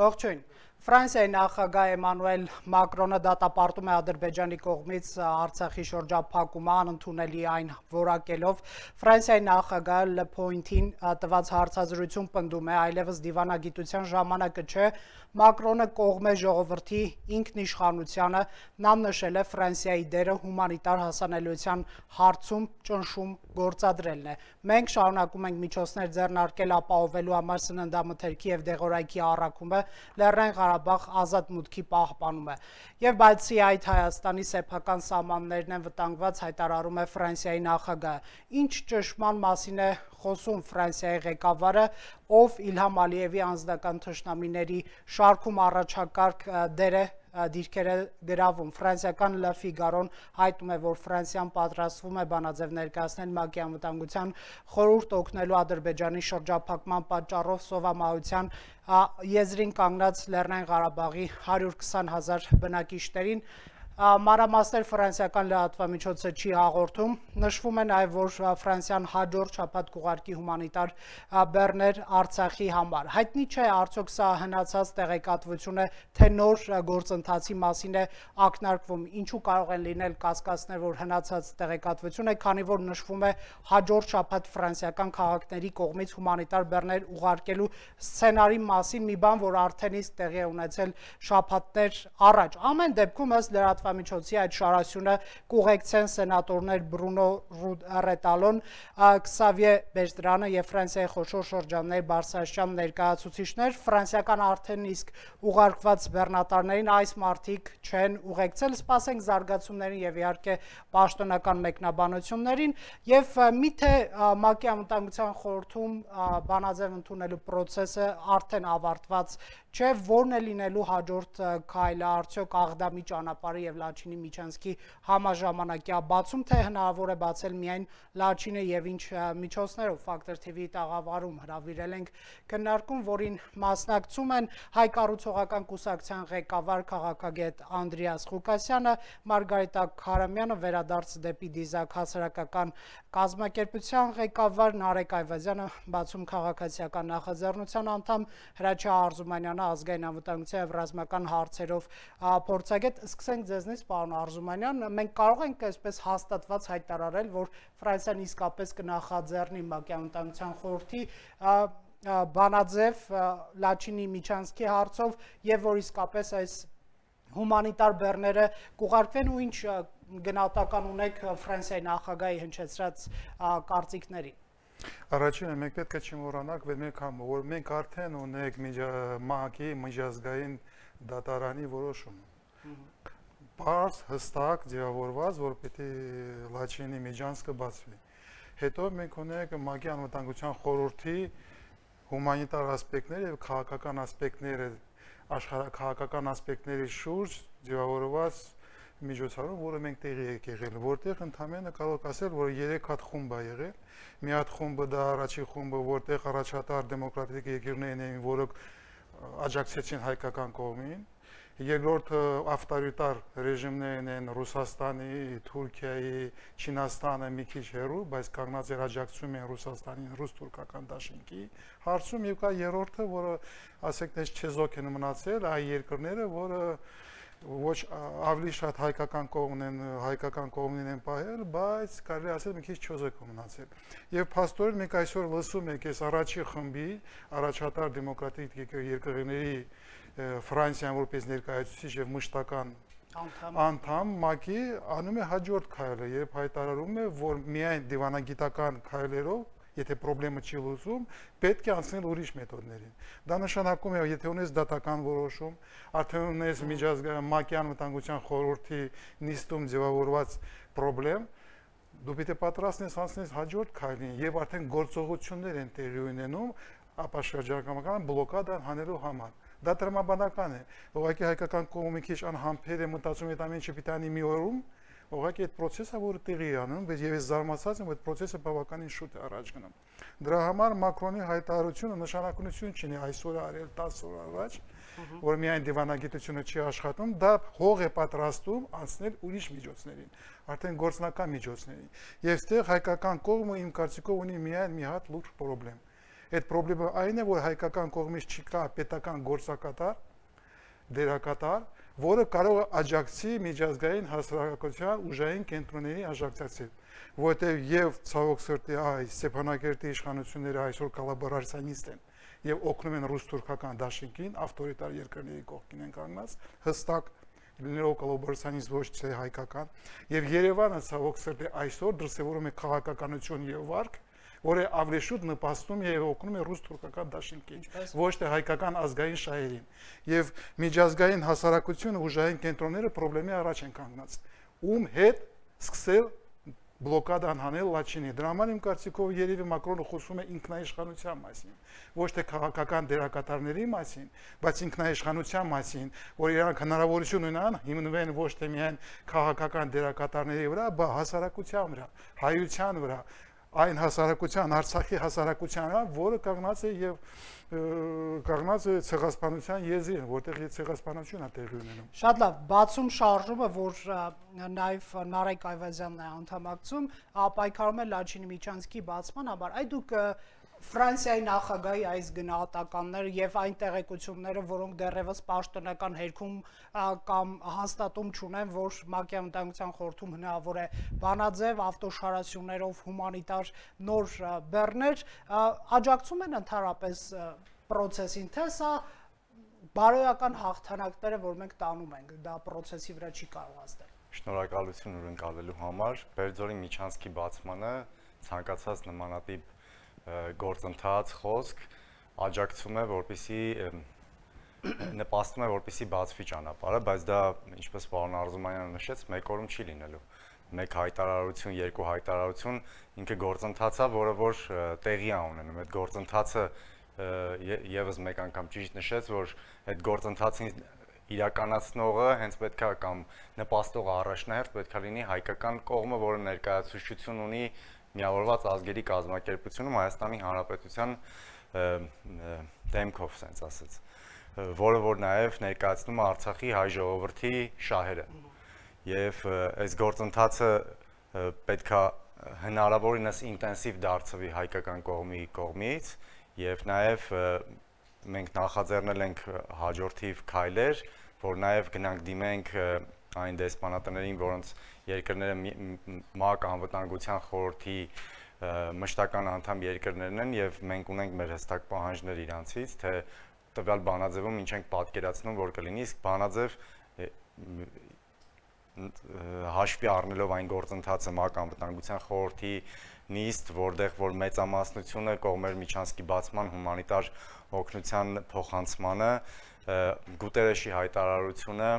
Ողջույն։ Ֆրանսիայի նախագահ Էմանուել Մակրոնը դատապարտում է Ադրբեջանի կողմից Արցախի շրջափակումը անընդունելի այն որակելով։ Ֆրանսիայի նախագահը Le Point-ին տված հարցազրույցում պնդում է, այլևս դիվանագիտության ժամանակը չէ, Մակրոնը կողմ է ժողովրդի ինքնիշխանությանը, նա նշել է Ֆրանսիայի դերը հումանիտար հասանելիության հարցում ճնշում գործադրելն է։ Մենք շարունակում ենք միջոցներ ձեռնարկել ապահովելու համար սննդամթերքի և դեղորայքի առաքումը, Լեռնային Ղարաբաղ ազատ մուտքի պահպանումը։ Եվ բացի այդ Հայաստանի սեփական սահմաններն են վտանգված, հայտարարում է Ֆրանսիայի նախագահը։ Ինչ ճնշման մասին է խոսում Ֆրանսիայի ղեկավարը, ով Իլհամ Ալիևի անձնական թշնամիների շարքում առաջակարգ դիրքեր է գրավում։ Ֆրանսիական Le Figaro-ն հայտնում է, որ Ֆրանսիան պատրաստվում է բանաձև ներկայացնել ՄԱԿ-ի անվտանգության խորհուրդ օգնելու Ադրբեջանի շրջափակման պատճառով սովամահության եզրին կանգնած Լեռնային Ղարաբաղի 120,000 բնակիչներին։ Մանրամասներ ֆրանսիական լրատվամիջոցը չի հաղորդում։ Նշվում է նաև, որ Ֆրանսիան հաջորդ շաբաթ կուղարկի հումանիտար բեռներ Արցախի համար։ Հայտնի չէ, արդյոք սա հնացած տեղեկատվություն է, թե նոր գործընթացի մասին է ակնարկվում։ Ինչու կարող են լինել կասկածներ, որ հնացած տեղեկատվություն է, քանի որ նշվում է հաջորդ շաբաթ ֆրանսիական քաղաքների կողմից հումանիտար բեռներ ուղարկելու սցենարի մասին, մի բան, որ արդեն իսկ տեղի է ունեցել շաբաթներ առաջ։ Ամեն դեպքում ըստ լրատվամիջոցի այդ շարասյունը կուղեկցեն սենատորներ Բրունո Ռետալոն, Քսավիե Բերտրանը եւ Ֆրանսիայի խոշոր շրջանների բարձրաստիճան ներկայացուցիչներ։ Ֆրանսիական արդեն իսկ ուղարկված բեռնատարներին այս մարտիկ չեն ուղեկցել, սպասենք զարգացումներին եւ իհարկե պաշտոնական մեկնաբանություններին եւ միթե ՄԱԿ-ի անվտանգության խորհրդում բանաձև ընդունելու process-ը արդեն ավարտված չէ, որն է լինելու հաջորդ քայլը, արդյոք Աղդամի ճանապարհի եւ Լաչինի Միչանսկի համաժամանակյա բացում, թե հնարավոր է բացել միայն Լաչինը եւ ինչ միջոցներով։ Factor TV-ի տաղավարում հրավիրել ենք քննարկում, որին մասնակցում են Հայ կառուցողական կուսակցության ղեկավար քաղաքագետ Անդրեաս Ղուկասյանը, Մարգարիտա Քարամյանը, Վերադարձ դեպի դիզակ հասարակական կազմակերպության ղեկավար Նարեկ Այվազյանը, Բացում քաղաքացիական նախաձեռնության անդամ, Հրաչյա Արզումանյանը, ազգային անվտանգության եւ ռազմական հարցերով փորձագետ։ Սկսենք ձեզնից, պարոն Արզումանյան, մենք կարող ենք այսպես հաստատված հայտարարել, որ Ֆրանսիան իսկապես կնախաձեռնի ՄԱԿ-ի անվտանգության խորհրդի բանաձև Լաչինի Միչանսկի հարցով եւ որ իսկապես այս հումանիտար բեռները կուղարկվեն ու ինչ գնահատական ունեք Ֆրանսիայի նախագահի հնչեցրած կարծիքների։ Առաջինը մենք պետք է չմոռանանք, որ մենք արդեն ունենք ՄԱԿ-ի միջազգային դատարանի որոշումը։ Պարզ հստակ ձևավորված, որ պետք է Լաչինի Միչանսկը բացվի։ Հետո մենք ունենք ՄԱԿ-ի անվտանգության խորհրդի հումանիտար ասպեկտները եւ քաղաքական ասպեկտները, աշխարհաքաղաքական ասպեկտների շուրջ ձևավորված միջոցառում, որը մենք տեղի եք եղել, որտեղ ընդհանրապես կարող ասել, որ 3 հատ խումբ է եղել։ Մի հատ խումբը դա առաջին խումբը, որտեղ առաջատար դեմոկրատիկ երկիրներն էին, որոնք աջակցեցին հայկական կողմին։ Երկրորդը ավտորիտար ռեժիմներն են Ռուսաստանի, Թուրքիայի, Չինաստանը մի քիչ հեռու, բայց կանգնած էր աջակցում են Ռուսաստանին ռուս-թուրքական դաշինքի հարցում եւ կա երրորդը, որը ասենք դες չեզոք են մնացել, այ երկրները, որը ոչ ավելի շատ հայկական կողմին են պահել, բայց կարելի ասել մի քիչ չոզոք մնացել։ Եվ փաստորեն մենք այսօր լսում ենք այս առաջի խմբի առաջատար դեմոկրատիկ երկրների Ֆրանսիան որպես ներկայացուցիչ եւ մշտական անդամ ՄԱԿ-ի անում է հաջորդ քայլը, երբ հայտարարում է, որ միայն դիվանագիտական քայլերով, եթե խնդիրը չի լուծում, պետք է անցնել ուրիշ մեթոդներին։ Դա նշանակում է, եթե ունես դատական որոշում, արդեն ունես միջազգային ՄԱԿ-ի անվտանգության խորհրդի նիստում ձևավորված խնդիր, դու պետք է պատրաստ ես անցնել հաջորդ քայլին եւ արդեն գործողություններ են տեղի ունենում ապա շրջակայական բլոկադան հանելու համար։ Դա տրամաբանական է։ Ուղղակի հայկական կողմը քիչ անհամբեր է մտածում այդ ամենը չպիտանի մի օրում, ուղղակի այդ process-ը որը տեղի է անում, բայց ես զարմացած եմ, այդ process-ը բավականին շուտ է առաջ գնում։ Դրա համար Մակրոնի հայտարարությունը նշանակություն չունի այսօր արել 10 օր առաջ, որ միայն դիվանագիտությունը չի աշխատում, դա հող է պատրաստում անցնել ուրիշ միջոցներին, արդեն գործնական միջոցներին։ Եվ այստեղ հայկական կողմը իմ կարծիքով ունի միայն մի հատ լուրջ խնդրեմ։ Այդ խնդիրը այն է, որ հայկական կողմից չկա պետական գործակատար, դերակատար, որը կարող է աջակցի միջազգային հասարակության ուժային կենտրոնների աջակցել, որտեղ եւ ցավոք սրտի Ստեփանակերտի իշխանությունները այսօր կոլաբորացիոնիստ են եւ օգնում են ռուս-թուրքական դաշինքին, ավտորիտար երկրների կողքին են կանգնած, հստակ լինելով կոլաբորացիոնիստ ոչ թե հայկական, եւ Երևանը ցավոք սրտի այսօր դրսևորում է քաղաքականություն եւ վարք, որը ավելի շուտ նպաստում է եւ օգնում է ռուս-թուրքական դաշինքին, ոչ թե հայկական ազգային շահերին։ Եվ միջազգային հասարակությունը ուժային կենտրոնները խնդրի առաջ են կանգնած։ Ում հետ սկսել բլոկադան հանել Լաչինի։ Դրա համար իմ կարծիքով երևի Մակրոնը խոսում է ինքնաիշխանության մասին, ոչ թե քաղաքական դերակատարների մասին, բայց ինքնաիշխանության մասին, որ իրանք հնարավորություն ունենան հիմնվեն ոչ թե միայն քաղաքական դերակատարների վրա, բայց հասարակության վրա, հայության վրա, այն հասարակության, Արցախի հասարակության, որը կանգնած է եւ կանգնած է ցեղասպանության եզրին, որտեղ ցեղասպանություն է տեղի ունենում։ Շատ լավ, բացում շարժումը, որ նաեւ Նարեկ Այվազյանն է անդամակցում, պայքարում է Լաչինի Միչանսկի բացման համար։ Այդ դուք Ֆրանսիայի նախագահի այս գնահատականները եւ այն տեղեկությունները, որոնք դեռևս պաշտոնական հերքում կամ հաստատում չունեն, որ ՄԱԿ-ի անվտանգության խորհրդում հնարավոր է բանաձև ավտոշարասյուններով հումանիտար նոր բեռներ, աջակցում են ընդհանրապես process-ին, թե սա բարոյական հաղթանակները, որ մենք տանում ենք, դա process-ի վրա չի կարող ազդել։ Շնորհակալություն ունկալելու համար, Բերձորի Միչանսկի բացմանը ցանկացած նմանատիպ գործընթաց, խոսք աջակցում է, որպեսզի նպաստում է, որպեսզի բացվի ճանապարհը, բայց դա, ինչպես պարոն Արզումանյանը նշեց, մեկ օրում չի լինելու։ Մեկ հայտարարություն, երկու հայտարարություն, ինքը գործընթաց է, որը որ տեղի է ունենում։ Այդ գործընթացը եւս մեկ անգամ ճիշտ նշեց, որ այդ գործընթացին իրականացնողը հենց պետք է կամ նպաստողը առաջնահերթ պետք է լինի հայկական կողմը, որը ներկայացուցչություն ունի Միավորված ազգերի կազմակերպությունում Հայաստանի Հանրապետության դեմքով, ասենց ասած, որը որ նաև ներկայացնում է Արցախի հայ ժողովրդի շահերը։ Եվ այս գործընթացը պետք է հնարավորինս ինտենսիվ դարձվի հայկական կողմի կողմից եւ նաև մենք նախաձեռնել ենք հաջորդիվ քայլեր, որ նաև գնանք դիմենք այն դեսպանատներին, որոնց երկրները ՄԱԿ անվտանգության խորհրդի մշտական անդամ երկրներն են եւ մենք ունենք մեր հստակ պահանջներ իրանցից, թե տվյալ բանաձևում ինչ ենք պատկերացնում, որ կլինի, իսկ բանաձև հաշվի առնելով այն գործընթացը ՄԱԿ անվտանգության խորհրդի նիստ, որտեղ որ մեծամասնությունը կողմեր Միչանսկի բացման հումանիտար օգնության փոխանցմանը, Գուտերեշի հայտարարությունը,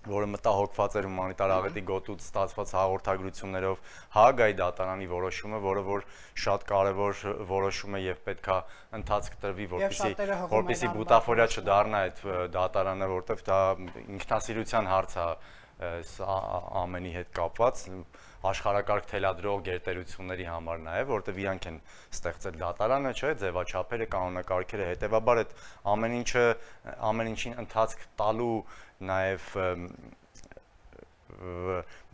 որը մտահոգված էր հումանիտար աղետի գոտուց ստացված հաղորդագրություններով, Հաագայի դատարանի որոշումը, որը որ շատ կարևոր որոշում է եւ պետքա ընթացք տրվի, որպեսզի բուտաֆորիա չդառնա այդ դատարանը, որտեղ դա ինքնասիրության հարց է ամենի հետ կապված, աշխարհակարգ թելադրող գերտերությունների համար նաև, որտեղ իրանք են ստեղծել դատարանը, չէ, ձևաչափերը, կանոնակարգերը, հետեւաբար այդ ամեն ինչին ընթացք տալու նաև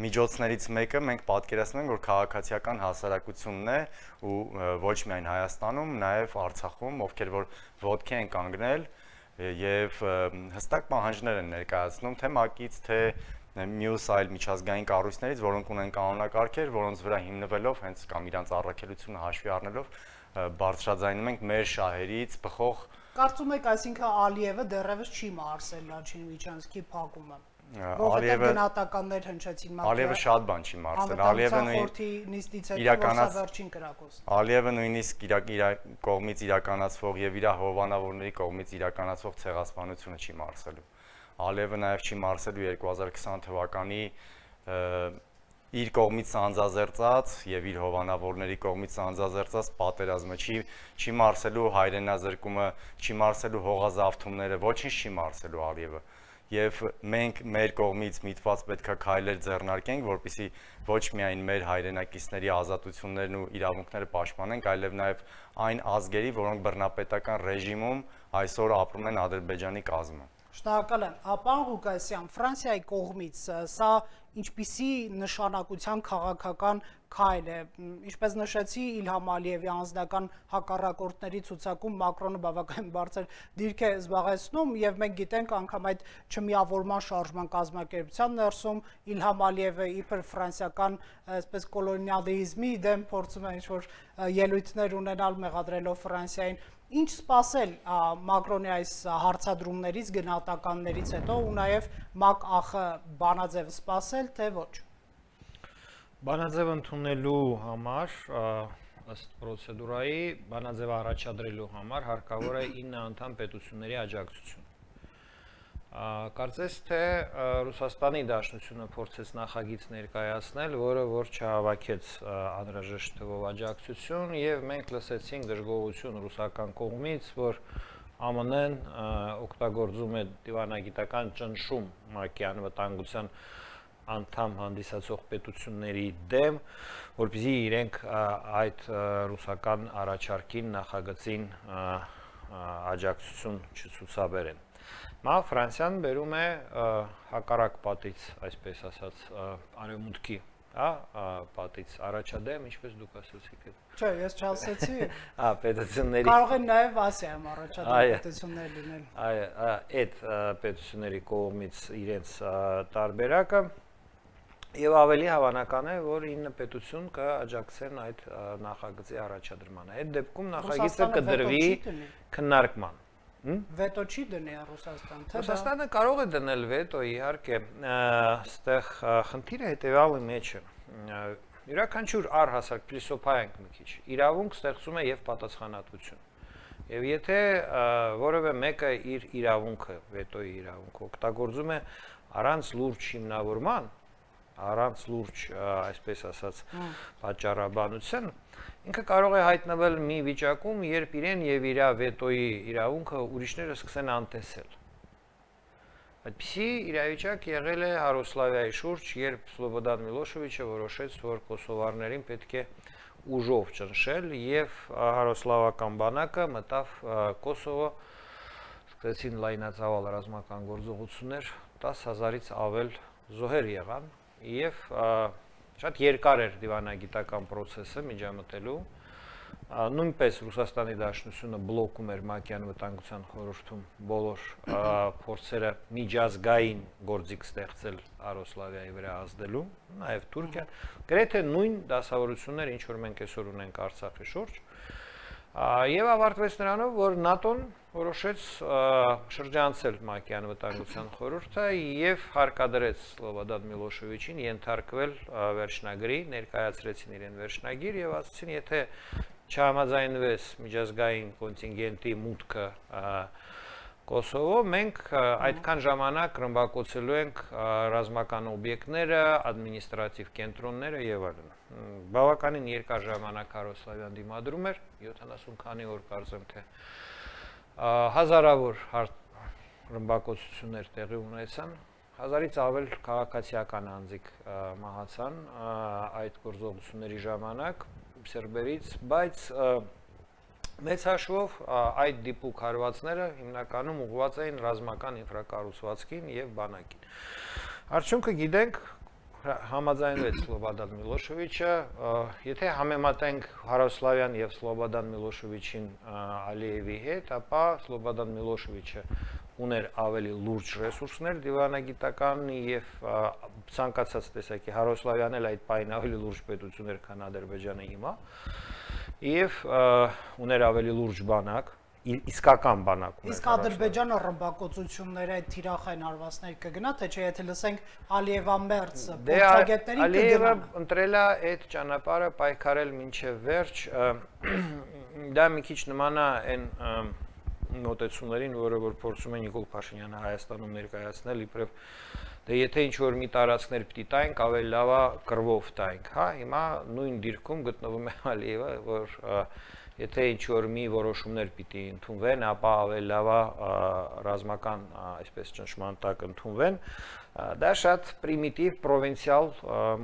միջոցներից մեկը մենք պատկերացնում ենք, որ քաղաքացիական հասարակությունն է ու ոչ միայն Հայաստանում, նաև Արցախում, ովքեր որ ոտքի են կանգնել եւ հստակ պահանջներ են ներկայացնում թե ՄԱԿ-ից, թե մյուս այլ միջազգային կառույցներից, որոնք ունեն կանոնակարգեր, որոնց վրա հիմնվելով հենց կամ իրանց առաքելությունը հաշվի առնելով բարձրաձայնում ենք մեր շահերից բխող։ Կարծում եք, այսինքն Ալիևը դեռևս չի մարսել Լաչինի Միչանսկի փակումը։ Ալիևը գնահատականներ հնչեցին ՄԱԿ-ի։ Ալիևը շատ բան չի մարսել։ Ալիևը նույնիսկ իր կողմից իրականացվող եւ իր հովանավորների կողմից իրականացվող ցեղասպանությունը չի մարսելու։ Ալիևը նաև չի մարսելու 2020 թվականի իր կողմից անձազերծած եւ իր հովանավորների կողմից անձազերծած պատերազմը, չի մարսելու հայրենազրկումը, չի մարսելու հողազավթումները, ոչինչ չի մարսելու Ալիևը։ Եվ մենք մեր կողմից միտված պետք է քայլեր ձեռնարկենք, որպեսզի ոչ միայն մեր հայրենակիցների ազատություններն ու իրավունքները պաշտպանենք, այլև նաև այն ազգերի, որոնք բռնապետական ռեժիմում այսօր ապրում են Ադրբեջանի կազմում։ Շնորհակալ եմ։ Պարոն Ղուկասյան, Ֆրանսիայի կողմից սա ինչպիսի նշանակության քաղաքական քայլ է։ Ինչպես նշեցի, Իլհամ Ալիևի անձնական հակառակորդների ցուցակում Մակրոնը բավականին բարձր դիրք է զբաղեցնում եւ մենք գիտենք անգամ այդ չմիավորման շարժման կազմակերպության ներսում Իլհամ Ալիևը իբր ֆրանսիական այսպես կոլոնիալիզմի դեմ փորձում է ինչ-որ ելույթներ ունենալ մեղադրելով Ֆրանսիային։ Ինչ սպասել Մակրոնի այս հարցադրումներից, գնահատականներից հետո ու նաեւ ՄԱԿ-ԱԽ բանաձև սպասել թե ոչ։ Բանաձև ընդունելու համար ըստ պրոցեդուրայի բանաձև առաջադրելու համար հարկավոր է 9 անդամ պետությունների աջակցություն։ Կարծես թե Ռուսաստանի Դաշնությունը փորձեց նախագիծ ներկայացնել, որը որ չհավաքեց անհրաժեշտ թվով աջակցություն եւ մենք լսեցինք դժգոհություն ռուսական կողմից, որ ԱՄՆ-ն օգտագործում է դիվանագիտական ճնշում ՄԱԿ-ի անվտանգության անդամ հանդիսացող պետությունների դեմ, որպեսզի իրենք այդ ռուսական առաջարկին նախագծին աջակցություն չցուցաբերեն։ Ֆրանսիան բերում է հակառակ պատից, այսպես ասած, արևմուտքի, պատից առաջադեմ, ինչպես դուք ասացիք։ Չէ, ես չասեցի։ Պետությունների կարող են նաև Ասիայում առաջադեմ պետություններ լինել։ Այդ պետությունների կողմից իրենց տարբերակը եւ ավելի հավանական է, որ 9 պետություն կաջակցեն այդ նախագծի առաջադրմանը։ Այդ դեպքում նախագիծը կդրվի քննարկման։ Վետո չի դնի Ռուսաստան, թե Ռուսաստանը կարող է դնել վետո, իհարկե, այստեղ խնդիրը հետեւյալի մեջ է։ Յուրաքանչյուր առհասարակ փիլիսոփայենք մի քիչ։ Իրավունք ստեղծում է եւ պատասխանատվություն։ Եվ եթե որևէ մեկը իր իրավունքը, վետոյի իրավունքը օգտագործում է առանց լուրջ հիմնավորման, առանց լուրջ, այսպես ասած, պատճառաբանության, ինքը կարող է հայտնվել մի վիճակում, երբ իրեն եւ իր վետոյի իրավունքը ուրիշները սկսեն անտեսել։ Այդպիսի իրավիճակ եղել է Հարոսլավիայի շուրջ, երբ Սլոբոդան Միլոշևիչը որոշեց, որ կոսովարներին պետք է ուժով ճնշել եւ հարոսլավական բանակը մտավ Կոսովո, սկսեցին լայնածավալ ռազմական գործողություններ, 10,000-ից ավել զոհեր եղան եւ շատ երկար էր դիվանագիտական process-ը միջամտելու, նույնպես Ռուսաստանի Դաշնությունը բլոկում էր ՄԱԿ-ի անվտանգության խորհրդում բոլոր փորձերը միջազգային գործիք ստեղծել Արոսլավիայի վրա ազդելու, նաեւ Թուրքիան, գրեթե նույն դասավորությունները, ինչ որ մենք այսօր ունենք Արցախի շուրջ, եւ ավարտվեց նրանով, որ ՆԱՏՕ-ն որոշեց շրջանցել ՄԱԿ-ի անվտանգության խորհուրդը եւ հարկադրեց Սլոբոդան Միլոշևիչին ենթարկվել վերջնագրի, ներկայացրեցին իրեն վերջնագիր եւ ասացին, եթե չհամաձայնվես միջազգային կոնտինգենտի մուտքը Կոսովո, մենք այդքան ժամանակ ռմբակոծելու ենք ռազմական օբյեկտները, ադմինիստրատիվ կենտրոնները եւ այլն։ Բավականին երկար ժամանակ Հարոսլավիան դիմադրում էր, 70 քանի օր կարծեմ թե հազարավոր ռմբակոծություններ տեղի ունեցան, 1000-ից ավել քաղաքացիական անձիկ մահացան այդ գործողությունների ժամանակ սերբերից, բայց մեծ հաշվով այդ դիպուկ հարվածները հիմնականում ուղղված էին ռազմական ինֆրակառուցվածքին եւ բանակին։ Արդյունքը գիտենք, համաձայնվեց Սլոբոդան Միլոշևիչը, եթե համեմատենք Հարոսլավյան եւ Սլոբոդան Միլոշևիչին Ալիևի հետ, ապա Սլոբոդան Միլոշևիչը ուներ ավելի լուրջ ռեսուրսներ դիվանագիտական եւ ցանկացած տեսակի Հարոսլավյանն էլ այդ պայն ավելի լուրջ պետություն էր, քան Ադրբեջանը հիմա, եւ ուներ ավելի լուրջ բանակ, իսկական բանակ ուներ։ Իսկ Ադրբեջանը ռմբակոծությունները այդ թիրախային հարվածների կգնա, թե չէ, եթե լսենք Ալիևամերձ փորձագետներին կգնա։ Ալիևը ընտրել է այդ ճանապարհը պայքարել մինչև վերջ, դա մի քիչ նման է այն մոտեցումներին, որը որ փորձում է Նիկոլ Փաշինյանը Հայաստանում ներկայացնել, իբրև դե եթե ինչ-որ մի տարածքներ պիտի տայինք, ավելի լավ է կռվով տայինք, հա, հիմա նույն դիրքում գտնվում է Ալիևը, որ եթե ինչ-որ մի որոշումներ պիտի ընդունվեն, ապա ավելի լավ է ռազմական, այսպես ճնշման տակ ընդունվեն, դա շատ պրիմիտիվ, պրովինցիալ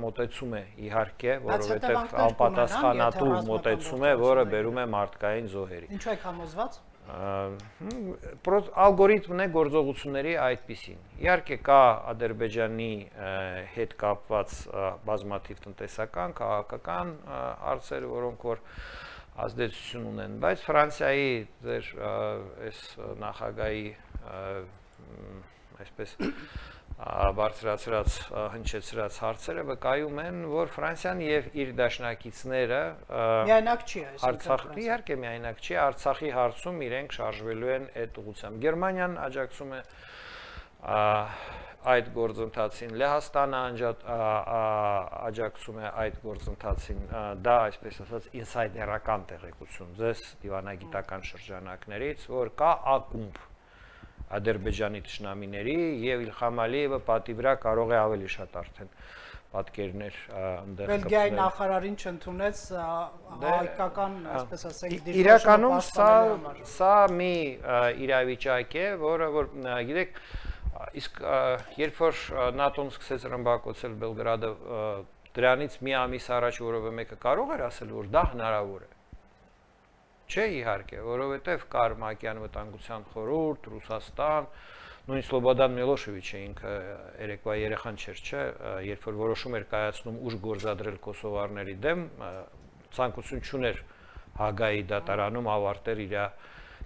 մոտեցում է իհարկե, որովհետև անպատասխանատու մոտեցում է, որը բերում է մարդկային զոհերի։ Ինչու եք համոզված։ Ալգորիթմն է գործողությունների այդպիսին։ Իհարկե կա Ադրբեջանի հետ կապված բազմաթիվ տնտեսական, քաղաքական հարցեր, որոնք որ ազդեցություն ունեն, բայց Ֆրանսիայի ձեր այս նախագահի այսպես բարձրացրած հնչեցրած հարցերը վկայում են, որ Ֆրանսիան եւ իր դաշնակիցները միայնակ չի Արցախի, իհարկե միայնակ չի, Արցախի հարցում իրենք շարժվելու են այդ ուղղությամբ։ Գերմանիան աջակցում է այդ գործընթացին, Լեհաստանը աջակցում է այդ գործընթացին, դա այսպես ասած ինսայդերական տեղեկություն ձեզ դիվանագիտական շրջանակներից, որ կա ակումբ Ադրբեջանի թշնամիների եւ Իլհամ Ալիևը պատի վրա կարող է ավելի շատ արդեն պատկերներ ընդդեմ կպցնել։ Բելգիայի նախարարին չընդունեց հայկական, այսպես ասենք, իրականում սա մի իրավիճակ է, որը որ գիտեք, իսկ երբ որ ՆԱՏՕ-ն սկսեց ռմբակոծել Բելգրադը, դրանից մի ամիս առաջ որևէ մեկը կարող էր ասել, որ դա հնարավոր է։ Չէ, իհարկե, որովհետև կար ՄԱԿ-ի անվտանգության խորհուրդ, Ռուսաստան, նույն Սլոբոդան Միլոշևիչը ինքը երեկվա երեխան չէր, չէ, երբ որ որոշում էր կայացնում ուժ գործադրել կոսովարների դեմ, ցանկություն չուներ Հագայի դատարանում ավարտել իր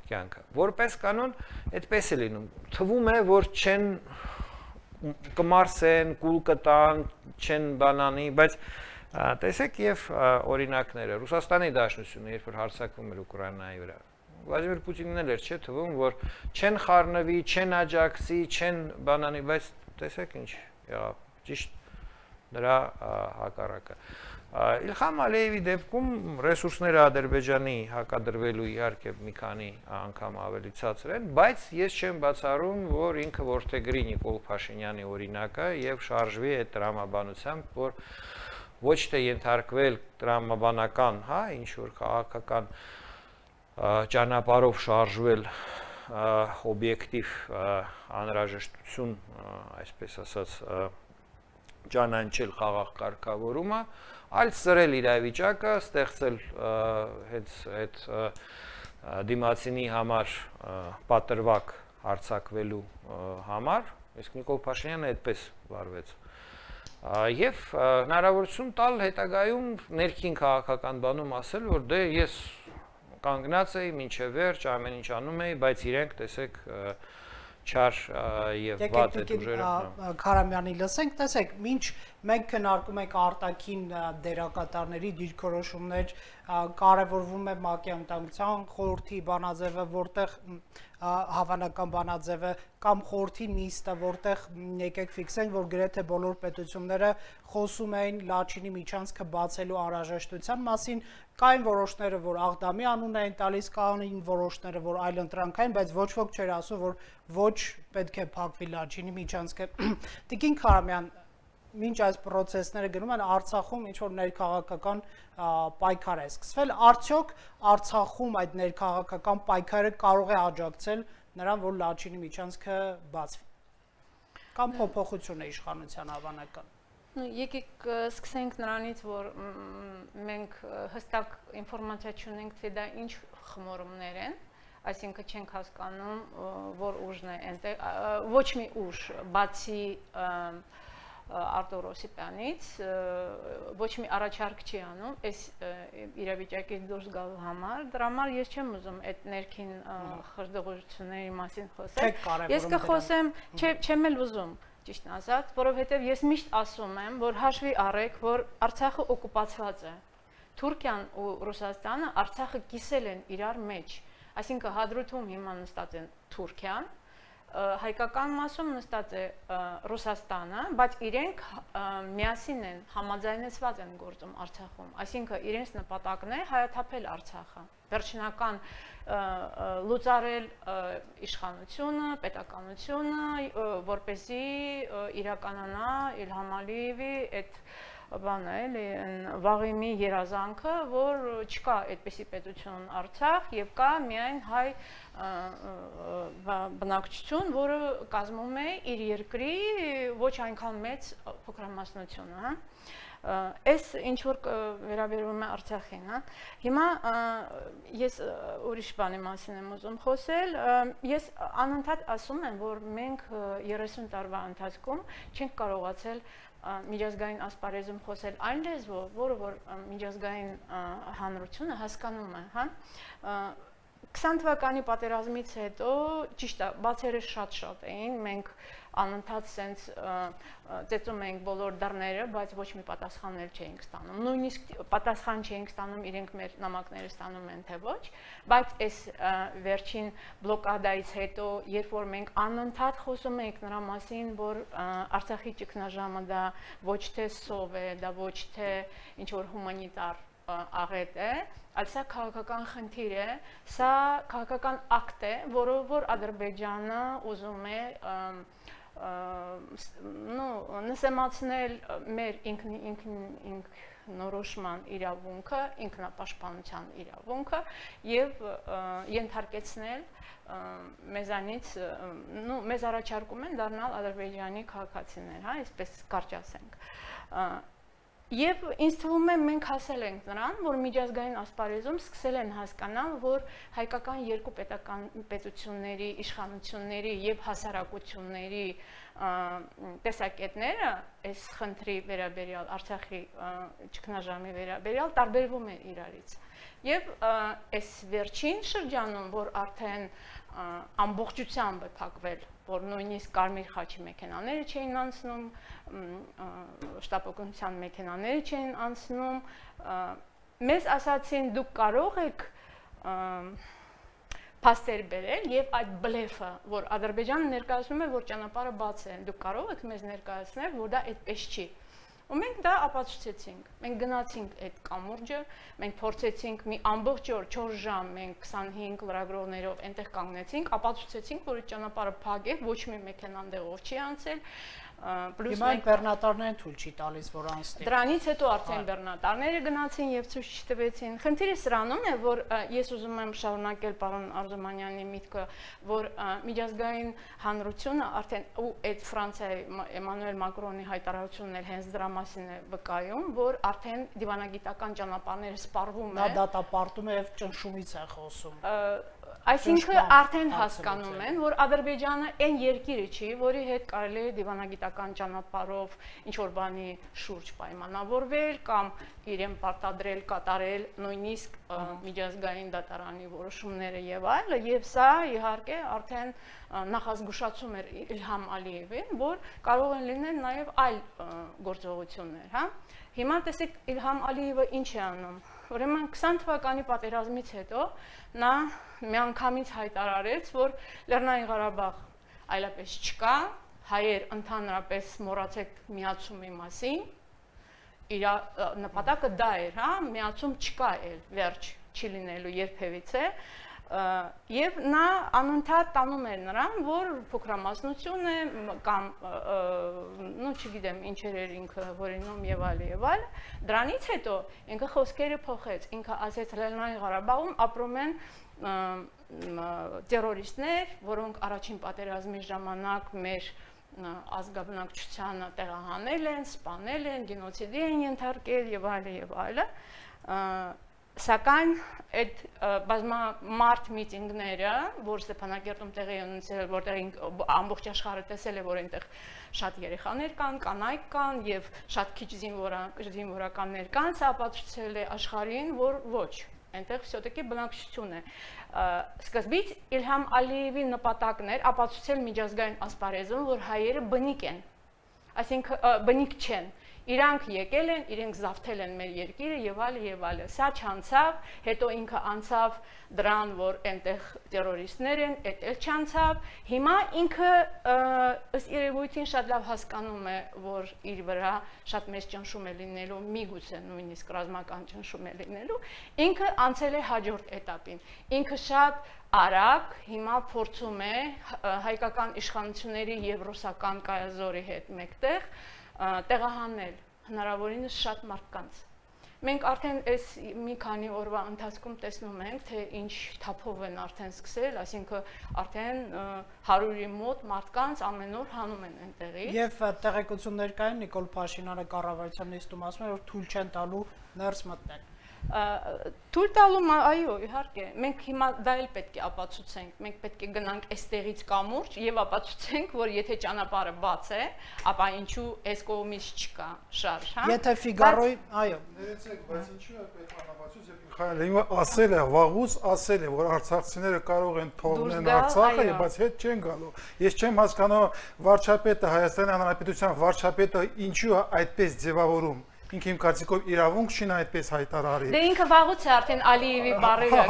կյանքը։ Որպես կանոն, այդպես է լինում։ Թվում է, որ չեն կմարսեն, կուլ կտան, չեն բանանի, բայց տեսեք եւ օրինակները Ռուսաստանի Դաշնությունը երբ որ հարձակվում էր Ուկրաինայի վրա Վլադիմիր Պուտինն էլ էր չէ թվում որ չեն խառնվի, չեն աջակցի, չեն բանանի, բայց տեսեք ինչ եղավ ճիշտ նրա հակառակը Իլհամ Ալիևի դեպքում ռեսուրսները Ադրբեջանի հակադրվելու իհարկե մի քանի անգամ ավելի ցածր են, բայց ես չեմ բացառում, որ ինքը որդեգրի Նիկոլ Փաշինյանի օրինակը եւ շարժվի այդ տրամաբանությամբ, որ ոչ թե ենթարկվել տրամաբանական, հա, ինչ որ քաղաքական ճանապարհով շարժվել օբյեկտիվ անհրաժեշտություն, այսպես ասած, ճանաչել խաղաղ կարգավորումը, այլ սրել իրավիճակը, ստեղծել հենց այդ դիմացինի համար պատրվակ հարձակվելու համար, իսկ Նիկոլ Փաշինյանը այդպես վարվեց։ Եվ հնարավորություն տալ հետագայում ներքին քաղաքական բանում ասել, որ դե ես կանգնած էի մինչև վերջ, ամեն ինչ անում էի, բայց իրենք տեսեք չար եւ վատ այդ ուժերը։ Քարամյանի լսենք, տեսեք, ինչ մենք քննարկում ենք արտաքին դերակատարների դիրքորոշումներ, կարևորվում է ՄԱԿ-ի անվտանգության խորհրդի բանաձևը, որտեղ հավանական բանաձևը կամ խորհրդի նիստը, որտեղ եկեք ֆիքսենք, որ գրեթե բոլոր պետությունները խոսում էին Լաչինի միջանցքը բացելու անհրաժեշտության մասին, կային որոշները, որ Աղդամի անուն էին տալիս, կային որոշները, որ այլընտրանքային, բայց ոչ ոք չէր ասում, որ ոչ պետք է փակվի Լաչինի միջանցքը։ Տիկին Քարամյան, մինչ այս process-ները գնում են Արցախում ինչ որ ներքաղաքական պայքար է սկսվել, արդյոք Արցախում այդ ներքաղաքական պայքարը կարող է աջակցել նրան, որ Լաչինի միջանցքը բացվի։ Կամ փոփոխություն է իշխանության հավանական։ Եկեք սկսենք նրանից, որ մենք հստակ ինֆորմացիա չունենք, թե դա ինչ խմորումներ են, այսինքն չենք հասկանում, որ ուժն է այնտեղ, ոչ մի ուժ, բացի Արտուր Օսիպյանից ոչ մի առաջարկ չի անում այս իրավիճակից դուրս գալու համար, դրա համար ես չեմ ուզում այդ ներքին խրդողությունների մասին խոսել։ Ես կխոսեմ, չեմ էլ ուզում, ճիշտն ասած, որովհետև ես միշտ ասում եմ, որ հաշվի առեք, որ Արցախը օկուպացված է։ Թուրքիան ու Ռուսաստանը Արցախը կիսել են իրար մեջ, այսինքն Հադրութում հիմա նստած են Թուրքիան, հայկական մասում նստած է Ռուսաստանը, բայց իրենք միասին են, համաձայնեցված են գործում Արցախում, այսինքն իրենց նպատակն է հայաթափել Արցախը, վերջնական լուծարել իշխանությունը, պետականությունը, որպեսզի իրականանա Իլհամ Ալիևի այդ բանը էլի վաղեմի երազանքը, որ չկա այդպիսի պետություն Արցախ եւ կա միայն հայ բնակչություն, որը կազմում է իր երկրի ոչ այնքան մեծ փոքրամասնությունը, հա։ Այս ինչ որ վերաբերում է Արցախին, հա։ Հիմա ես ուրիշ բանի մասին եմ ուզում խոսել։ Ես անընդհատ ասում եմ, որ մենք 30 տարվա ընթացքում չենք կարողացել միջազգային ասպարեզում խոսել այն լեզվով, որը որ միջազգային հանրությունը հասկանում է, հա։ 20 թվականի պատերազմից հետո ճիշտ է, բացերը շատ էին, մենք անընդհատ սենց ծեծում էինք բոլոր դռները, բայց ոչ մի պատասխաններ չէինք ստանում։ Նույնիսկ պատասխան չէինք ստանում, իրենք մեր նամակները ստանում են թե ոչ, բայց այս վերջին բլոկադայից հետո, երբ որ մենք անընդհատ խոսում ենք նրա մասին, որ Արցախի ճգնաժամը դա ոչ թե սով է, դա ոչ թե ինչ որ հումանիտար աղետ է, այլ սա քաղաքական խնդիր է, սա քաղաքական ակտ է, որով որ Ադրբեջանը ուզում է նսեմացնել մեր ինքնորոշման իրավունքը, ինքնապաշտպանության իրավունքը եւ ենթարկեցնել մեզանից, մեզ առաջարկում են դառնալ Ադրբեջանի քաղաքացիներ, հա, այսպես կարճ ասենք։ Եվ ինձ թվում է մենք հասել ենք նրան, որ միջազգային ասպարեզում սկսել են հասկանալ, որ հայկական երկու պետությունների, իշխանությունների եւ հասարակությունների տեսակետները այս խնդրի վերաբերյալ, Արցախի ճգնաժամի վերաբերյալ տարբերվում են իրարից։ Եվ այս վերջին շրջանում, որ արդեն ամբողջությամբ է փակվել, որ նույնիսկ Կարմիր խաչի մեքենաները չէին անցնում, շտապօգնության մեքենաները չէին անցնում, մեզ ասացին դուք կարող եք փաստեր բերել եւ այդ բլեֆը, որ Ադրբեջանը ներկայացնում է, որ ճանապարհը բաց է, դուք կարող եք մեզ ներկայացնել, որ դա այդպես չի։ Ու մենք դա ապացուցեցինք, մենք գնացինք այդ կամուրջը, մենք փորձեցինք մի ամբողջ օր, 4 ժամ, մենք 25 լրագրողներով այնտեղ կանգնեցինք, ապացուցեցինք, որ այդ ճանապարհը փակ է, ոչ մի մեքենա այնտեղով չի անցել, Հիմա բեռնատարներն թույլ չի տալիս, որ անցնի։ Դրանից հետո արդեն բեռնատարները գնացին եւ ցույց չտվեցին։ Խնդիրը սրանում է, որ ես ուզում եմ շարունակել պարոն Արզումանյանի միտքը, որ միջազգային հանրությունը արդեն ու այդ Ֆրանսիայի Էմանուել Մակրոնի հայտարարությունն էլ հենց դրա մասին է վկայում, որ արդեն դիվանագիտական ճանապարհները սպառվում են։ Նա դատապարտում է եւ ճնշումից է խոսում։ Այսինքն արդեն հասկանում են, որ Ադրբեջանը այն երկիրը չի, որի հետ կարելի է դիվանագիտական ճանապարհով ինչ-որ բանի շուրջ պայմանավորվել կամ իրեն պարտադրել, կատարել նույնիսկ միջազգային դատարանի որոշումները եւ այլը, եւ սա իհարկե արդեն նախազգուշացում էր Իլհամ Ալիևին, որ կարող են լինել նաեւ այլ գործողություններ, հա։ Հիմա տեսեք Իլհամ Ալիևը ինչ է անում։ Ուրեմն 20 թվականի պատերազմից հետո նա միանգամից հայտարարեց, որ Լեռնային Ղարաբաղ այլապես չկա, հայեր ընդհանրապես մոռացեք միացումի մասին, իր նպատակը դա էր, հա, միացում չկա էլ, վերջ չի լինելու երբևիցե, եւ նա անընդհատ տանում էր նրան, որ փոքրամասնություն է կամ նո չգիտեմ ինչեր էր ինքը որինում եւ այլ, դրանից հետո ինքը խոսքերը փոխեց, ինքը ասեց Լեռնային Ղարաբաղում ապրում են տերորիստներ, որոնք առաջին պատերազմի ժամանակ մեր ազգաբնակչությանը տեղահանել են, սպանել են, գենոցիդի են ենթարկել եւ այլը, Սակայն այդ բազմամարդ միտինգները, որ Ստեփանակերտում տեղի են ունեցել, որտեղ ամբողջ աշխարհը տեսել է, որ այնտեղ շատ երեխաներ կան, կանայք կան եւ շատ քիչ զինվորականներ կան, սա ապացուցել է աշխարհին, որ ոչ, այնտեղ всё-таки բնակչություն է։ Սկզբից Իլհամ Ալիևի նպատակն էր ապացուցել միջազգային ասպարեզում, որ հայերը բնիկ են, այսինքն բնիկ չեն։ Իրանք եկել են, իրենք զավթել են մեր երկիրը եւ այլը, սա չանցավ, հետո ինքը անցավ դրան, որ այնտեղ տերորիստներ են, այդ էլ չանցավ, հիմա ինքը ըստ երևույթին շատ լավ հասկանում է, որ իր վրա շատ մեծ ճնշում է լինելու, միգուցե նույնիսկ ռազմական ճնշում է լինելու, ինքը անցել է հաջորդ этаպին, ինքը շատ արագ հիմա փորձում է հայկական իշխանությունների եւ ռուսական կայազորի հետ մեկտեղ տեղահանել հնարավորինս շատ մարդկանց Մենք արդեն այս մի քանի օրվա ընթացքում տեսնում ենք, թե ինչ թափով են արդեն սկսել, այսինքն արդեն 100-ի մոտ մարդկանց ամեն օր հանում են այնտեղի։ Եվ տեղեկություններ կային Նիկոլ Փաշինյանը կառավարության նիստում ասում է, որ թույլ չեն տալու ներս մտնել։ Թույլ տալու, այո, իհարկե, մենք հիմա դա էլ պետք է ապացուցենք, մենք պետք է գնանք այստեղից կամուրջ եւ ապացուցենք, որ եթե ճանապարհը բաց է, ապա ինչու այս կողմից չկա շարժ, հա։ Եթե Ֆիգարոյի, այո, ներեցեք, բայց ինչու է պետք անապացույց, երբ Միխայելը ասել է, վաղուց ասել է, որ արցախցիները կարող են թողնել Արցախը, բայց հետ չեն գալու։ Ես չեմ հասկանում վարչապետը, Հայաստանի Հանրապետության վարչապետը ինչու է այդպես ձևավորում։ Ինքը իմ կարծիքով իրավունք չին այդպես հայտարարի։ Դե ինքը վաղուց է արդեն Ալիևի բառերը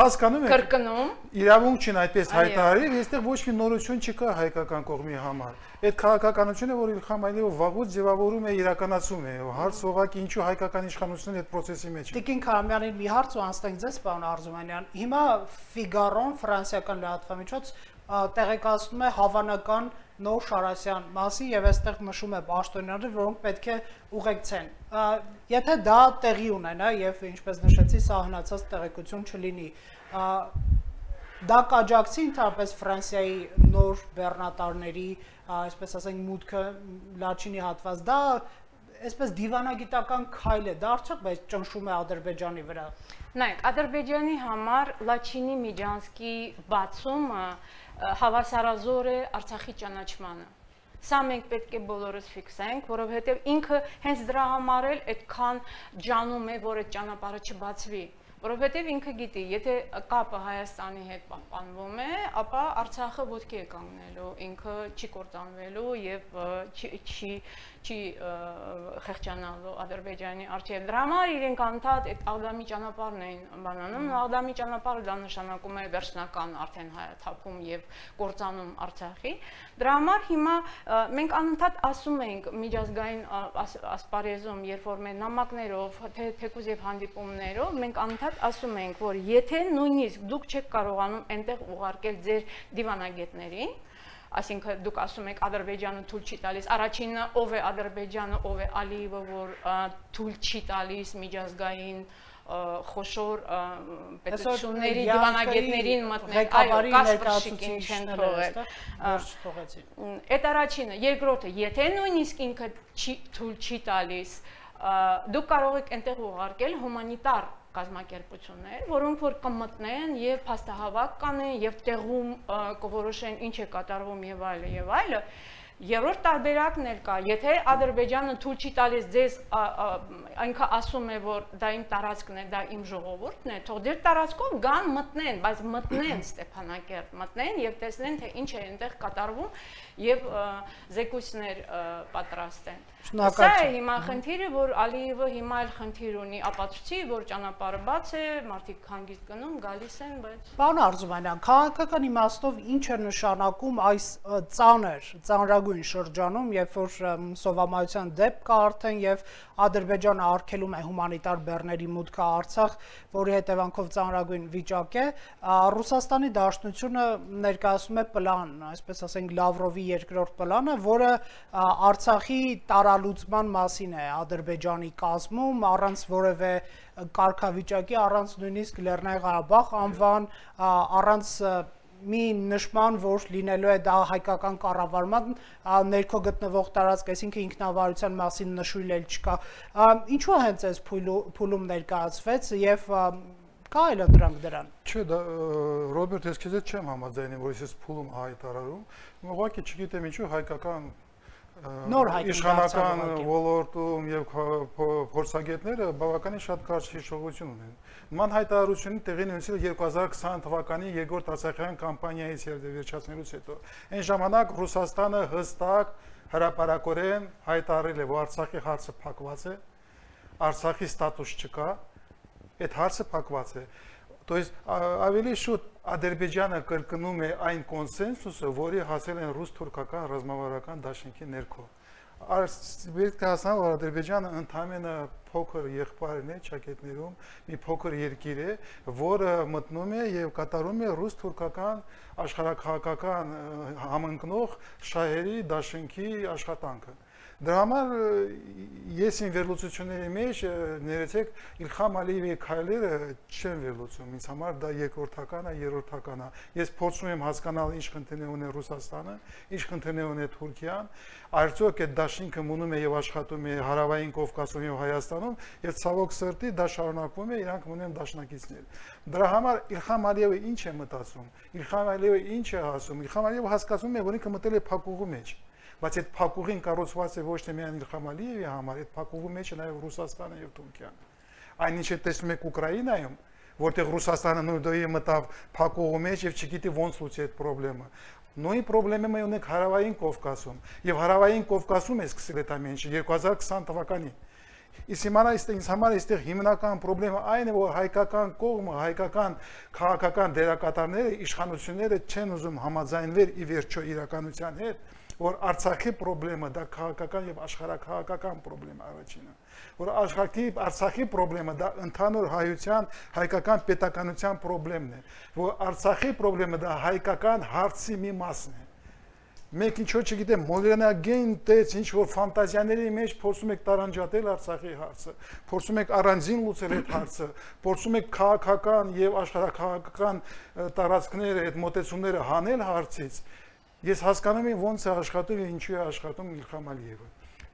կրկնում։ Իրավունք չին այդպես հայտարարի, այստեղ ոչ մի նորություն չկա հայկական կողմի համար։ Այդ քաղաքականությունը, որ Իլհամ Ալիևը վաղուց ձևավորում է, իրականացում է, հարց ուղղակի ինչու հայկական իշխանությունն այդ process-ի մեջ է։ Տիկին Քարամյանին մի հարց ու անցնենք ձեզ, պարոն Արզումանյան։ Հիմա Ֆիգարոն, ֆրանսիական լրատվամիջոց, տեղեկացնում է հավանական նոր Շարասյան մասին եւ այստեղ նշում է պաշտոնյաները, որոնք պետք է ուղեկցեն։ Եթե դա տեղի ունենա եւ ինչպես նշեցի, սահմանացած տեղեկություն չլինի, դա կաջակցի ընդհանրապես Ֆրանսիայի նոր բեռնատարների, այսպես ասենք, մուտքը Լաչինի հատված, դա այսպես դիվանագիտական քայլ է, դա արդյոք բայց ճնշում է Ադրբեջանի վրա։ Նայեք, Ադրբեջանի համար Լաչինի Միջանցքի բացումը հավասարազոր է Արցախի ճանաչմանը։ Սա մենք պետք է բոլորս ֆիքսենք, որովհետև ինքը հենց դրա համար էլ այդքան ջանում է, որ այդ ճանապարհը չբացվի, որովհետև ինքը գիտի, եթե կապը Հայաստանի հետ պահպանվում է, ապա Արցախը ոտքի է կանգնելու, ինքը չի կործանվելու եւ չի խեղճանալու Ադրբեջանի առջև։ Դրա համար իրենք անդադ այդ Աղդամի ճանապարհն էին բանանում, Աղդամի ճանապարհը դա նշանակում է վերջնական արդեն հայաթափում եւ կործանում Արցախի։ Դրա համար հիմա մենք անընդհատ ասում ենք միջազգային ասպարեզում, երբ որ մեր նամակներով, թեկուզ եւ հանդիպումներով մենք անընդհատ ասում ենք, որ եթե նույնիսկ դուք չեք կարողանում այնտեղ ուղարկել ձեր դիվանագետներին, այսինքն դուք ասում եք Ադրբեջանը թույլ չի տալիս, առաջինը ով է Ադրբեջանը, ով է Ալիևը, որ թույլ չի տալիս միջազգային խոշոր պետությունների դիվանագետներին մտնել, այո, Կասպրշիկին չեն թողել։ Այդ առաջինը, երկրորդը, եթե նույնիսկ ինքը թույլ չի տալիս, դուք կարող եք այնտեղ ուղարկել հումանիտար կազմակերպություններ, որոնք որ կմտնեն եւ փաստահավաք կանեն եւ տեղում կորոշեն ինչ է կատարվում եւ այլը եւ այլը։ Երրորդ տարբերակն էլ կա, եթե Ադրբեջանը թույլ չի տալիս ձեզ, այնքը ասում է, որ դա իմ տարածքն է, դա իմ ժողովուրդն է, թող դեր տարածքով գան մտնեն, բայց մտնեն Ստեփանակերտ, մտնեն եւ տեսնեն, թե ինչ է այնտեղ կատարվում եւ զեկույցներ պատրաստեն։ Սա է հիմա խնդիրը, որ Ալիևը հիմա էլ խնդիր ունի, ապացուցի, որ ճանապարհը բաց է, մարդիկ հանգիստ գնում, գալիս են, բայց Պարոն Արզումանյան, քաղաքական իմաստով ինչ է նշանակում այս ծանրագույն շրջանում, երբ որ սովամայության դեպք կա արդեն եւ Ադրբեջանը արգելում է հումանիտար բեռների մուտքը Արցախ, որի հետևանքով ծանրագույն վիճակ է, Ռուսաստանի Դաշնությունը ներկայացնում է պլան, այսպես ասենք Լավրովի երկրորդ պլանը, որը Արցախի տարալուծման մասին է Ադրբեջանի կազմում, առանց որևէ կարգավիճակի, առանց նույնիսկ Լեռնային Ղարաբաղ անվան, առանց մի նշման, որ լինելու է դա հայկական կառավարման ներքո գտնվող տարածք, այսինքն ինքնավարության մասին նշույլ էլ չկա։ Ինչու է հենց այս փուլում ներկայացվեց եւ կա այլ դրանք դրան։ Չէ, դա Ռոբերտ, ես քեզ հետ չեմ համաձայնում, որ ես փուլում հայտարարում, ուղղակի չգիտեմ ինչու հայկական իշխանական ոլորտում եւ փորձագետները բավականին շատ կարճ հիշողություն ունեն։ Նման հայտարարությունը տեղի ունեցել 2020 թվականի երկրորդ Արցախյան կամպանիայից եւ վերջացնելուց հետո։ Այն ժամանակ Ռուսաստանը հստակ հրապարակորեն հայտարարել է, որ Արցախի հարցը փակված է, Արցախի ստատուս չկա, այդ հարցը փակված է։ То есть ավելի շուտ Ադրբեջանը կրկնում է այն կոնսենսուսը, որի հասել են ռուս-թուրքական ռազմավարական դաշինքի ներքո։ Պետք է հասկանալ, որ Ադրբեջանը ընդամենը փոքր եղբայրն է ճակետներում, մի փոքր երկիր է, որը մտնում է եւ կատարում է ռուս-թուրքական աշխարհաքաղաքական համընկնող շահերի դաշինքի աշխատանքը։ Դրա համար ես իմ վերլուծությունների մեջ ներեցեք Իլհամ Ալիևի քայլերը չեն վերլուծում, ինձ համար դա երկրորդական է, երրորդական է։ Ես փորձում եմ հասկանալ ինչ խնդիրներ ունի Ռուսաստանը, ինչ խնդիրներ ունի Թուրքիան, արդյոք այդ դաշինքը մնում է եւ աշխատում է Հարավային Կովկասում եւ Հայաստանում, եւ ցավոք սրտի դա շարունակվում է, իրանք ունեն դաշնակիցներ։ Դրա համար Իլհամ Ալիևը ինչ է մտածում, Իլհամ Ալիևը ինչ է ասում, Իլհամ Ալիևը հասկացում է, որ ինքը մտել է փակուղու մեջ։ Բայց այդ փակուղին կառուցված է ոչ թե միայն Իլհամ Ալիևի համար, այդ փակուղու մեջ է նաև Ռուսաստանը եւ Թուրքիան։ Այնինչ է տեսնում եք Ուկրաինայում, որտեղ Ռուսաստանը նույնდոյի մտավ փակուղու մեջ եւ չգիտի ոնց լուծի այդ խնդրը։ Նույն խնդրը ունենք Հարավային Կովկասում եւ Հարավային Կովկասում է սկսել այդ ամենը 2020 թվականին։ Իսկ հիմա ինձ համար այստեղ հիմնական խնդրը այն է, որ հայկական կողմը, հայկական քաղաքական դերակատարները, իշխանությունները չեն ուզում համաձայնվել ի վերջո իրականության հետ, որ Արցախի խնդրը դա քաղաքական եւ աշխարհաքաղաքական խնդրեմ առաջինը, որ Արցախի խնդրը դա ընդհանուր հայության, հայկական պետականության խնդրեմն է, որ Արցախի խնդրը դա հայկական հարցի մի մասն է։ Մենք ինչ որ չգիտեմ, մոդեռնագեն տեց ինչ որ ֆանտազիաների մեջ փորձում եք տարանջատել Արցախի հարցը, փորձում եք առանձին լուծել այդ հարցը, փորձում եք քաղաքական եւ աշխարհաքաղաքական տարածքները, այդ մոտեցումները հանել հարցից։ Ես հասկանում եմ ոնց է աշխատում եւ ինչու է աշխատում Իլհամ Ալիևը։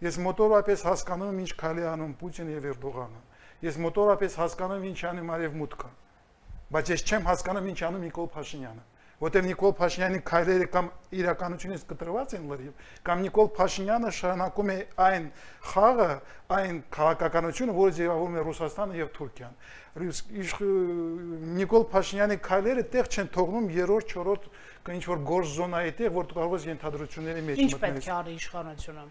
Ես մոտորապես հասկանում եմ ինչ քայլ է անում Պուտինը եւ Էրդողանը։ Ես մոտորապես հասկանում եմ ինչ անում Արևմուտքը։ Բայց ես չեմ հասկանում ինչ անում Նիկոլ Փաշինյանը, որտեղ Նիկոլ Փաշինյանի քայլերը կամ իրականությունից կտրված են լրիվ, կամ Նիկոլ Փաշինյանը շարունակում է այն խաղը, այն քաղաքականությունը, որը ձևավորում է Ռուսաստանը եւ Թուրքիան։ Նիկոլ Փաշինյանի քայլերը տեղ չեն թողնում երրորդ, չորրորդ ինչ որ գործ զոնայի տեղ, որ կարող է ենթադրությունների մեջ մտնել։ Ինչ պետք է արի իշխանությունը։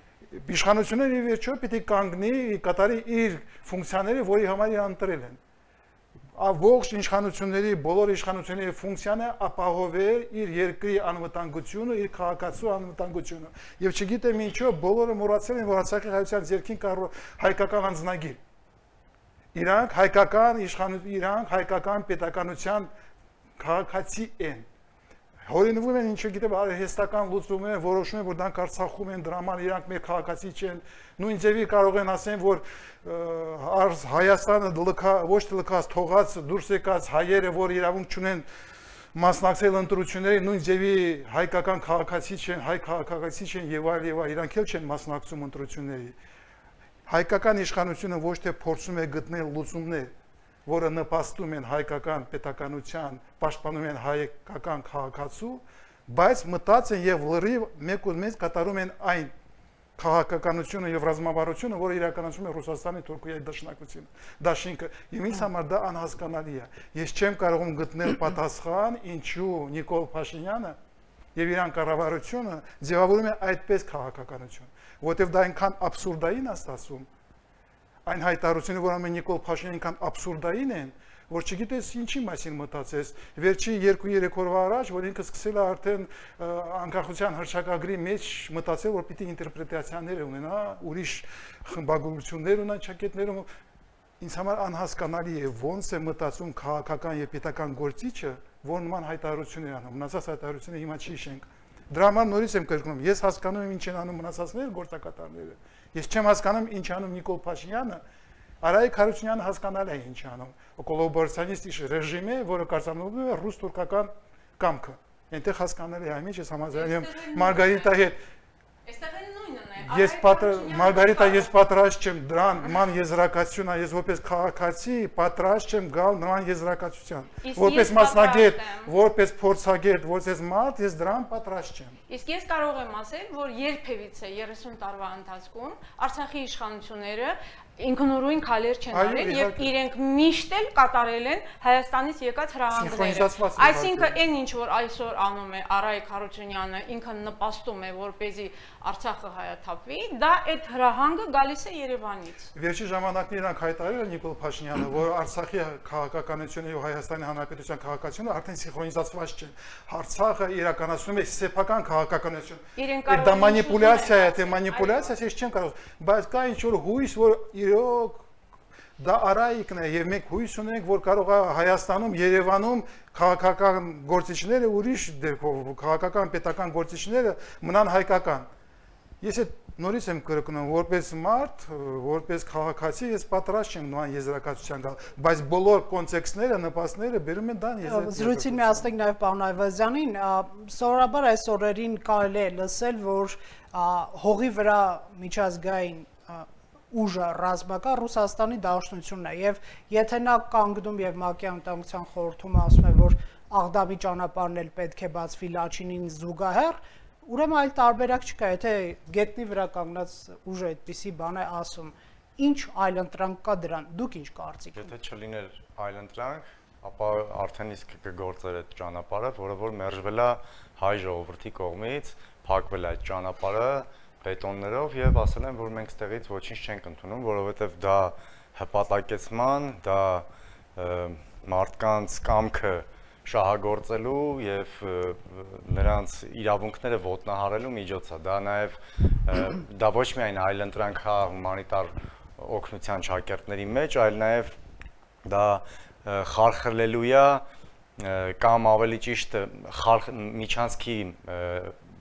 Իշխանությունները ի վերջո պիտի կանգնի, կատարի իր ֆունկցիաները, որի համար իրան ընտրել են։ Ողջ իշխանությունների, բոլոր իշխանությունների ֆունկցիան է ապահովել իր երկրի անվտանգությունը, իր քաղաքացու անվտանգությունը։ Եվ չգիտեմ ինչու բոլորը մոռացել են, որ Արցախի հայության ձեռքին կա հայկական անձնագիր։ Իրանք հայկական իշխանություն, իրանք հայկական պետականության քաղաքացի են։ Հորինվում են ինչ գիտեմ արհեստական լուծում են, որոշում են, որ դրանք Արցախում են, դրա համար իրանք մեր քաղաքացի չեն։ Նույն ձևի կարող են ասեն, որ Հայաստանը ոչ թե լքած, թողած, դուրս եկած հայերը, որ իրավունք չունեն մասնակցել ընտրությունների, նույն ձևի հայկական քաղաքացի չեն, հայ քաղաքացի չեն եւ այլ, իրանք էլ չեն մասնակցում ընտրությունների։ Հայկական իշխանությունը ոչ թե փորձում է գտնել լուծումներ, որը նպաստում են հայկական պետականության, պաշտպանում են հայկական քաղաքացու, բայց մտած են եւ լրիվ մեկ ու մեկ կատարում են այն քաղաքականությունը եւ ռազմավարությունը, որը իրականացում է Ռուսաստանի, Թուրքիայի դաշինքը։ Եվ ինձ համար դա անհասկանալի է։ Ես չեմ կարողում գտնել պատասխան, ինչու Նիկոլ Փաշինյանը եւ իրան կառավարությունը ձևավորում է այդպես քաղաքականություն, որովհետեւ դա այնքան աբսուրդային է ստացվում։ Այն հայտարարությունը, որ ամեն Նիկոլ Փաշինյանը այնքան աբսուրդային են, որ չգիտես ինչի մասին մտածես։ Վերջի 2-3 օրվա առաջ, որ ինքը սկսել է արդեն անկախության հռչակագրի մեջ մտածել, որ պիտի ինտերպրետացիաներ ունենա, ուրիշ խմբագրություններ ունենա ճակետներում։ Ինձ համար անհասկանալի է ոնց է մտածում քաղաքական եւ պետական գործիչը, որ նման հայտարարություններ անում։ Մնացած հայտարարությունները հիմա չի շենք։ Դրա համար նորից եմ կրկնում, ես հասկանում եմ ինչ են անում մնացածները գործակատարները։ Ես չեմ հասկանում ինչ անում Նիկոլ Փաշինյանը, Արայիկ Հարությունյանը հասկանալ է ինչ անում։ Կոլաբորացիոնիստ ռեժիմ է, որը կարգավորվում է ռուս-թուրքական կամքը։ Այնտեղ հասկանալի է, ինչ ես համաձայնում եմ Մարգարիտայի հետ։ Այստեղ էլ նույնն է։ Ես Մարգարիտա, ես պատրաստ չեմ դրան նման եզրակացությունը, ես որպես քաղաքացի պատրաստ չեմ գալ նման եզրակացության։ Որպես մասնագետ, որպես փորձագետ, որպես մարդ, ես դրան պատրաստ չեմ։ Իսկ ես կարող եմ ասել, որ երբևիցե 30 տարվա ընթացքում Արցախի իշխանությունները ինքնուրույն քայլեր չեն արել եւ իրենք միշտ էլ կատարել են Հայաստանից եկած հրահանգները։ Այսինքն այն ինչ որ այսօր անում է Արայիկ Հարությունյանը, ինքը նպաստում է որպեսզի Արցախը հայաթափվի, դա այդ հրահանգը գալիս է Երևանից։ Վերջի ժամանակներն իրանք հայտարարել են Նիկոլ Փաշինյանը, որ Արցախի քաղաքականությունը եւ Հայաստանի Հանրապետության քաղաքականությունը արդեն սինխրոնիզացված չեն։ Արցախը իրականացնում է սեփական քաղաքականություն։ Դա մանիպուլյացիա է, թե մանիպուլյացիա, ես չեմ կարող, բայց կա ինչ որ հույս, որ իրոք դա Արայիկն է եւ մենք հույս ունենք, որ կարող է Հայաստանում, Երևանում քաղաքական գործիչները ուրիշ դեպքով, քաղաքական պետական գործիչները մնան հայկական։ Ես այդ նորից եմ կրկնում, որպես մարդ, որպես քաղաքացի, ես պատրաստ չեմ նույն եզրակացության գալ, բայց բոլոր կոնտեքստները, նպաստները բերում են դան եզրակացություն։ Զրույցին միացնենք նաև պարոն Այվազյանին, սովորաբար այս օրերին կարելի է լսել, որ հողի վրա միջազգային ուժը ռազմական Ռուսաստանի Դաշնությունն է, եւ եթե նա կանգնում եւ ՄԱԿ-ի Անվտանգության խորհրդում ասում է, որ Աղդամի ճանապարհն էլ պետք է բացվի Լաչինին զուգահեռ, ուրեմն այլ տարբերակ չկա, եթե գետնի վրա կանգնած ուժը այդպիսի բան է ասում, ինչ այլընտրանք կա դրան, դուք ինչ կարծիք եք։ Եթե չլիներ այլընտրանք, ապա արդեն իսկ կգործեր այդ ճանապարհը, որը որ մերժվել է հայ ժողովրդի կողմից, փակվել է այդ ճանապարհը բետոններով եւ ասել են, որ մենք ստեղից ոչինչ չենք ընդունում, որովհետեւ դա հպատակեցման, դա մարդկանց կամքը շահագործելու եւ նրանց իրավունքները ոտնահարելու միջոց է։ Դա նաեւ դա ոչ միայն այլընտրանք է հումանիտար օգնության ճակերտների մեջ, այլ նաեւ դա խարխլելու է կամ ավելի ճիշտ միջանցքի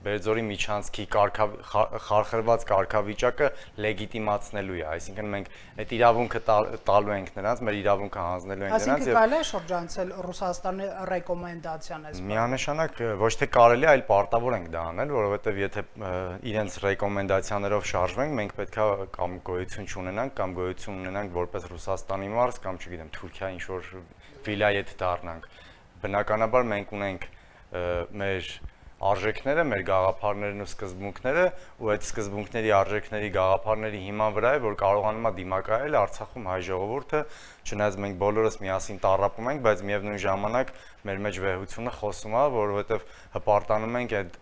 Բերձորի միջանցքի խարխրված կարգավիճակը լեգիտիմացնելու է, այսինքն մենք այդ իրավունքը տալու ենք նրանց, մեր իրավունքը հանձնելու ենք նրանց եւ կարելի է շրջանցել Ռուսաստանի ռեկոմենդացիան այս։ Միանշանակ ոչ թե կարելի, այլ պարտավոր ենք դա անել, որովհետեւ եթե իրենց ռեկոմենդացիաներով շարժվենք, մենք պետքա կամ գոյություն չունենանք, կամ գոյություն ունենանք որպես Ռուսաստանի մարզ, կամ չգիտեմ, Թուրքիա ինչ որ վիլայեթ դառնանք։ Բնականաբար մենք ունենք մեր արժեքները, մեր գաղափարներն ու սկզբունքները, ու այդ սկզբունքների, արժեքների, գաղափարների հիման վրա է, որ կարողանում է դիմակայել Արցախում հայ ժողովուրդը, չնայած մենք բոլորս միասին տառապում ենք, բայց միևնույն ժամանակ մեր մեջ վեհությունը խոսում է, որովհետև հպարտանում ենք այդ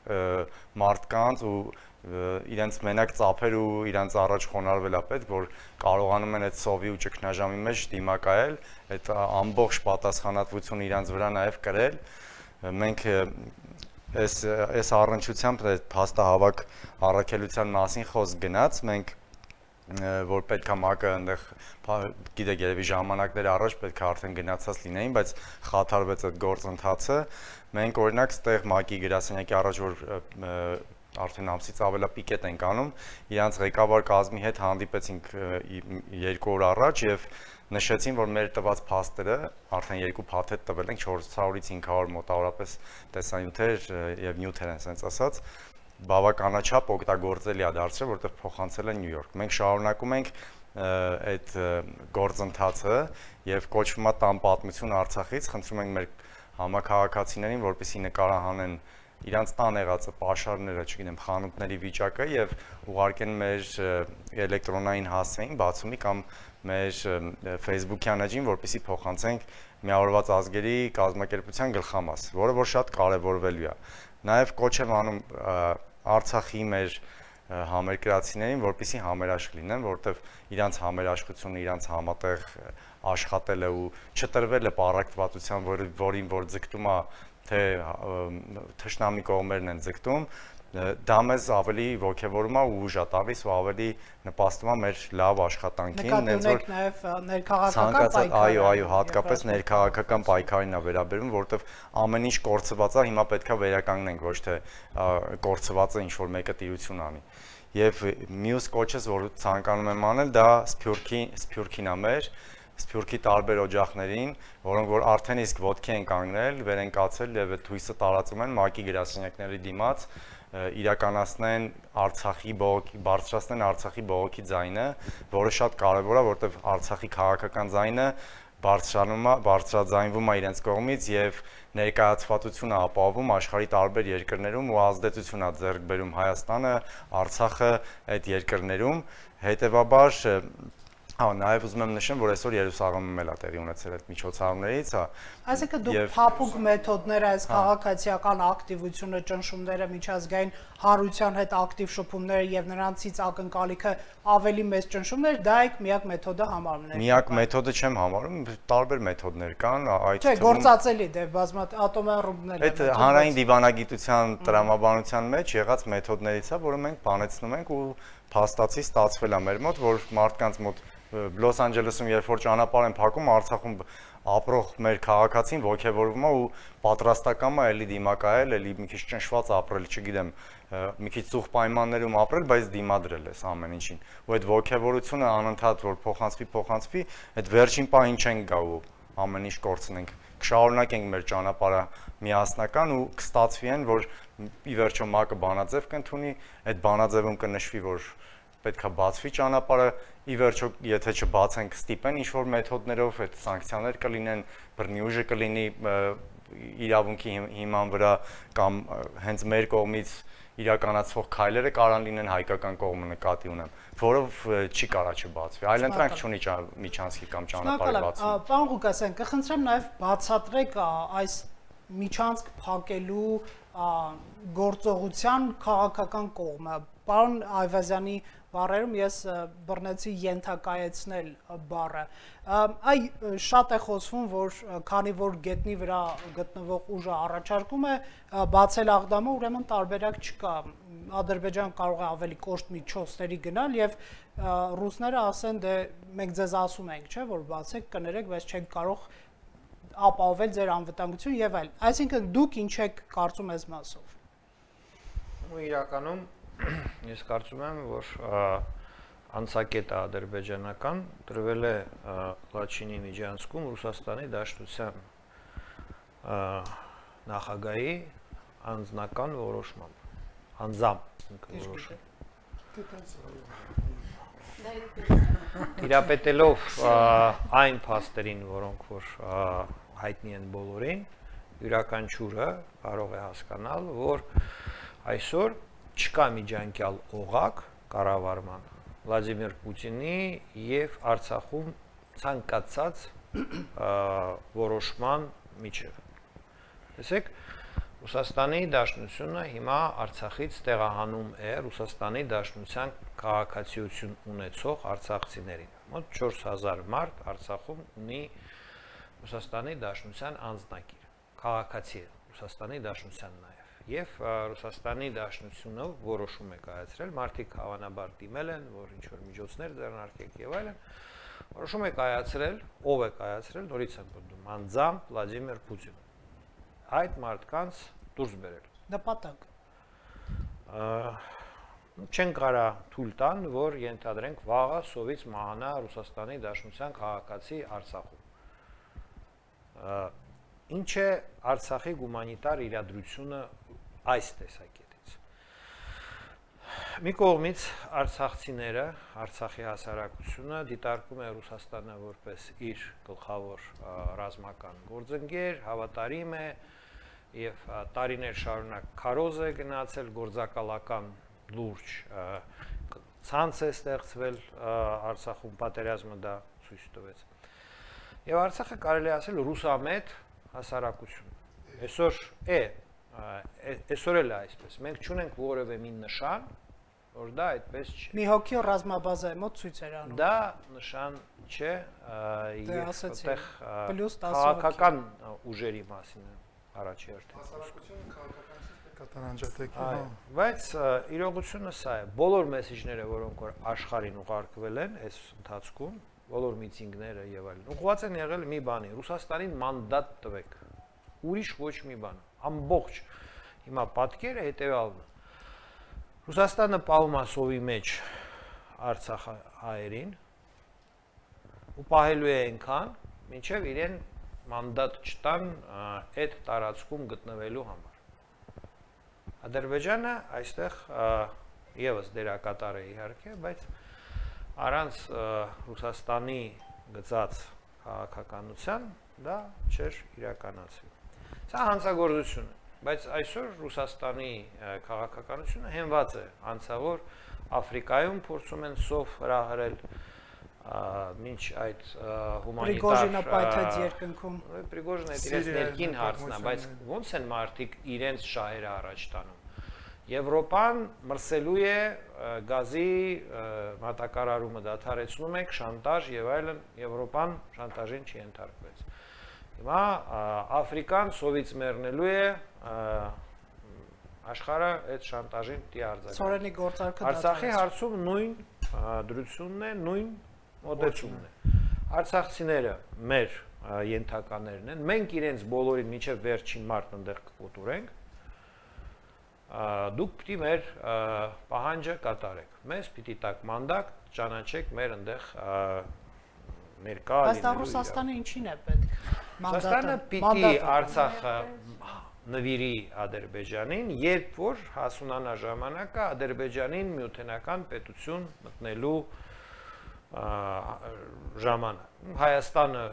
մարդկանց ու իրենց մենակ ծափեր ու իրենց առաջ խոնարհվել է պետք, որ կարողանում են այդ սովի ու ճգնաժամի մեջ դիմակայել, այդ ամբողջ պատասխանատվությունը իրենց վրա նաև կրել։ Մենք այս առնչությամբ փաստահավաք առաքելության մասին խոսք գնաց, մենք որ պետքա ՄԱԿ-ը այնտեղ գիտեք երևի ժամանակներ առաջ պետքա արդեն գնացած լինեին, բայց խաթարվեց այդ գործընթացը։ Մենք օրինակ ստեղ ՄԱԿ-ի գրասենյակի առաջ որ արդեն ամսից ավելա պիկետ ենք անում, իրանց ղեկավար կազմի հետ հանդիպեցինք 2 օր առաջ եւ նշեցին, որ մեր տված փաստերը արդեն 2 փաթեթ տվել ենք 400-ից 500 մոտավորապես տեսանյութեր եւ նյութեր են sense ասած, բավականաչափ օգտագործելի է դարձել, որտեղ փոխանցել են Նյու Յորք։ Մենք շարունակում ենք այդ գործընթացը եւ կոչվում է տան պատմություն Արցախից, խնդրում ենք մեր համակարգացիներին, որպեսզի նկարահանեն իրանց տան եղածը, պաշարները, չգիտեմ, խանութների վիճակը եւ ուղարկեն մեր էլեկտրոնային հասցեին, բացումի կամ մեր Facebook-յան էջին, որպեսզի փոխանցենք Միավորված ազգերի կազմակերպության գլխամաս, որը որ շատ կարևորվելու է։ Նաեւ կոչ եմ անում Արցախի մեր համերկրացիներին, որպեսզի համերաշխ լինեն, որտեվ իրանց համերաշխությունը, իրանց համատեղ աշխատելը ու չտրվելը պարակտվածության, որին որ ձգտում է թե թշնամի կողմերն են ձգտում, դա մեզ ավելի ոգևորում է ու ուժ է տալիս ու ավելի նպաստում է մեր լավ աշխատանքին, նենց որ նաև ներքաղաքական պայքարը, այո, հատկապես ներքաղաքական պայքարին է վերաբերում, որովհետև ամեն ինչ կորցված է, հիմա պետքա վերականգնենք, ոչ թե կորցվածը ինչ որ մեկը տիրություն անի։ Եվ մյուս կոչս, որ ցանկանում եմ անել, դա Սփյուռքին է մեր Սփյուռքի տարբեր օջախներին, որոնք որ արդեն իսկ ոտքի են կանգնել, վեր են կացել եւ այդ հույսը տարածում են ՄԱԿ-ի գրասենյակների դիմաց, իրականացնեն Արցախի բողոքի, բարձրացնեն Արցախի բողոքի ձայնը, որը շատ կարեւոր է, որովհետեւ Արցախի քաղաքական ձայնը բարձրաձայնվում է իրենց կողմից եւ ներկայացվածությունը ապահովում աշխարհի տարբեր երկրներում ու ազդեցություն է ձեռք բերում Հայաստանը, Արցախը այդ երկրներում, հետեւաբար Նաև ուզում եմ նշեմ, որ այսօր Երուսաղեմում էլ է տեղի ունեցել այդ միջոցառումներից, Այսինքն դուք փափուկ մեթոդներ, այս քաղաքացիական ակտիվությունը, ճնշումները, միջազգային հանրության հետ ակտիվ շփումները եւ նրանցից ակնկալիքը ավելի մեծ ճնշումներ, դա եք միակ մեթոդը համարում եք։ Միակ մեթոդը չեմ համարում, տարբեր մեթոդներ կան, այդ Չէ, գործածելի դե բազմաթիվ ատոմային ռումբներ։ Այդ հանրային դիվանագիտության տրամաբանության մեջ եղած մեթոդներից է, որը մենք բանեցնում ենք ու փաստացի ստացվել է մեր մոտ, որ մարդկանց մոտ Լոս Անջելեսում երբ որ ճանապարհ են փակում, Արցախում ապրող մեր քաղաքացին ոգևորվում է ու պատրաստական է էլի դիմակայել, էլի մի քիչ ճնշված ապրել, չգիտեմ, մի քիչ ծուղ պայմաններում ապրել, բայց դիմադրել էս ամեն ինչին։ Ու այդ ոգևորությունը անընդհատ որ փոխանցվի, այդ վերջին պահին չենք գա ու ամեն ինչ կորցնենք։ Կշարունակենք մեր ճանապարհը միասնական ու կստացվի այն, որ ի վերջո ՄԱԿ-ը բանաձև կընդունի, այդ բանաձևում կնշվի, որ պետքա բացվի ճանապարհը, ի վերջո եթե չբացենք ստիպեն ինչ որ մեթոդներով այդ սանկցիաներ կլինեն, բռնի ուժը կլինի իրավունքի հիման վրա կամ հենց մեր կողմից իրականացվող քայլերը կարան լինեն հայկական կողմը նկատի ունեմ, որով չի կարա չբացվի։ Այլընտրանք չունի միջանցքի կամ ճանապարհի բացումը։ Պարոն Ղուկասյան, կխնդրեմ նաև բացատրեք այս միջանցք փակելու գործողության քաղաքական կողմը։ Պարոն Այվազյանի բառերում ես բռնեցի ենթակայեցնել բառը։ Այ շատ է խոսվում, որ քանի որ գետնի վրա գտնվող ուժը առաջարկում է բացել աղդամը, ուրեմն տարբերակ չկա։ Ադրբեջան կարող է ավելի կոշտ միջոցների գնալ եւ ռուսները ասեն, դե մենք ձեզ ասում ենք, չէ, որ բացեք, կներեք, բայց չեք կարող ապահովել ձեր անվտանգություն եւ այլ։ Այսինքն դուք ինչ եք կարծում այս մասով։ Ու իրականում ես կարծում եմ, որ անցակետը ադրբեջանական դրվել է Լաչինի միջանցքում Ռուսաստանի Դաշնության նախագահի անձնական որոշմամբ, անձամբ որոշում։ Տիրապետելով այն փաստերին, որոնք որ հայտնի են բոլորին, յուրաքանչյուրը կարող է հասկանալ, որ այսօր չկա միջանկյալ օղակ կառավարման Վլադիմիր Պուտինի եւ Արցախում ցանկացած որոշման միջև։ Տեսեք, Ռուսաստանի Դաշնությունը հիմա Արցախից տեղահանում է Ռուսաստանի Դաշնության քաղաքացիություն ունեցող արցախցիներին։ Մոտ 4000 մարդ Արցախում ունի Ռուսաստանի Դաշնության անձնակիր, քաղաքացի է Ռուսաստանի Դաշնության նաև։ Եվ Ռուսաստանի Դաշնությունը որոշում է կայացրել, մարդիկ հավանաբար դիմել են, որ ինչ որ միջոցներ ձեռնարկեք եւ այլն, որոշում է կայացրել, ով է կայացրել, նորից եմ պատմում, անձամբ Վլադիմիր Պուտինը։ Այդ մարդկանց դուրս բերել։ Նպատակ։ Չեն կարա թույլ տան, որ ենթադրենք վաղը սովից մահանա Ռուսաստանի Դաշնության քաղաքացի Արցախում։ Ինչ է Արցախի հումանիտար իրադրությունը այս տեսակետից։ Մի կողմից արցախցիները, Արցախի հասարակությունը դիտարկում է Ռուսաստանը որպես իր գլխավոր ռազմական գործընկեր, հավատարիմ է եւ տարիներ շարունակ քարոզ է գնացել, գործակալական լուրջ ցանց է ստեղծվել Արցախում, պատերազմը դա ցույց տվեց։ Եվ Արցախը կարելի ասել ռուսամետ հասարակություն։ Այսօր էլ է այսպես։ Մենք չունենք որևէ մի նշան, որ դա այդպես չէ։ Մի հոգի ռազմաբազա է մոտ ցույց էր անում։ Դա նշան չէ, եւ այդտեղ քաղաքական ուժերի մասին է առաջի հերթին։ Հասարակությունը քաղաքականից կատարանջատեք։ Բայց իրողությունը սա է։ Բոլոր մեսեջները, որոնք որ աշխարհին ուղարկվել են այս ընթացքում, բոլոր միտինգները եւ այլն, ուղղված են եղել մի բանի՝ Ռուսաստանին մանդատ տվեք։ Ուրիշ ոչ մի բան։ Ամբողջ հիմա պատկերը հետեւյալն է։ Ռուսաստանը պահում է սովի մեջ Արցախ հայերին ու պահելու է այնքան, մինչև իրեն մանդատ չտան այդ տարածքում գտնվելու համար։ Ադրբեջանը այստեղ եւս դերակատար է իհարկե, բայց առանց Ռուսաստանի գծած քաղաքականության դա չէր իրականացվի։ Սա հանցագործություն է, բայց այսօր Ռուսաստանի քաղաքականությունը հենված է անցավոր Աֆրիկայում փորձում են սով հրահրել մինչ այդ Պրիգոժինը պայթեց երկնքում։ Պրիգոժինը իրենց ներքին հարցն է, բայց ոնց են մարդիկ իրենց շահերը առաջ տանում։ Եվրոպան մրսելու է գազի մատակարարումը դադարեցնում եք, շանտաժ եւ այլն, Եվրոպան շանտաժին չի ենթարկվեց։ Հիմա Աֆրիկան սովից մեռնելու է, աշխարհը այդ շանտաժին դի արձակվի։ Սորենի գործարքը Արցախի հարցում նույն դրությունն է, նույն մոտեցումն է։ Արցախցիները մեր ենթականերն են։ Մենք իրենց բոլորին մինչև վերջին մարտ ընդեղ կկոտորենք։ Դուք պիտի մեր պահանջը կատարեք։ Մեզ պիտի տակ մանդատ, ճանաչեք մեր ընդեղ ներկա լինելու։ Բայց դա Ռուսաստանը ինչին է պետք։ Ռուսաստանը պիտի Արցախը նվիրի Ադրբեջանին, երբ որ հասունանա ժամանակը Ադրբեջանին միութենական պետություն մտնելու ժամանակ։ Հայաստանը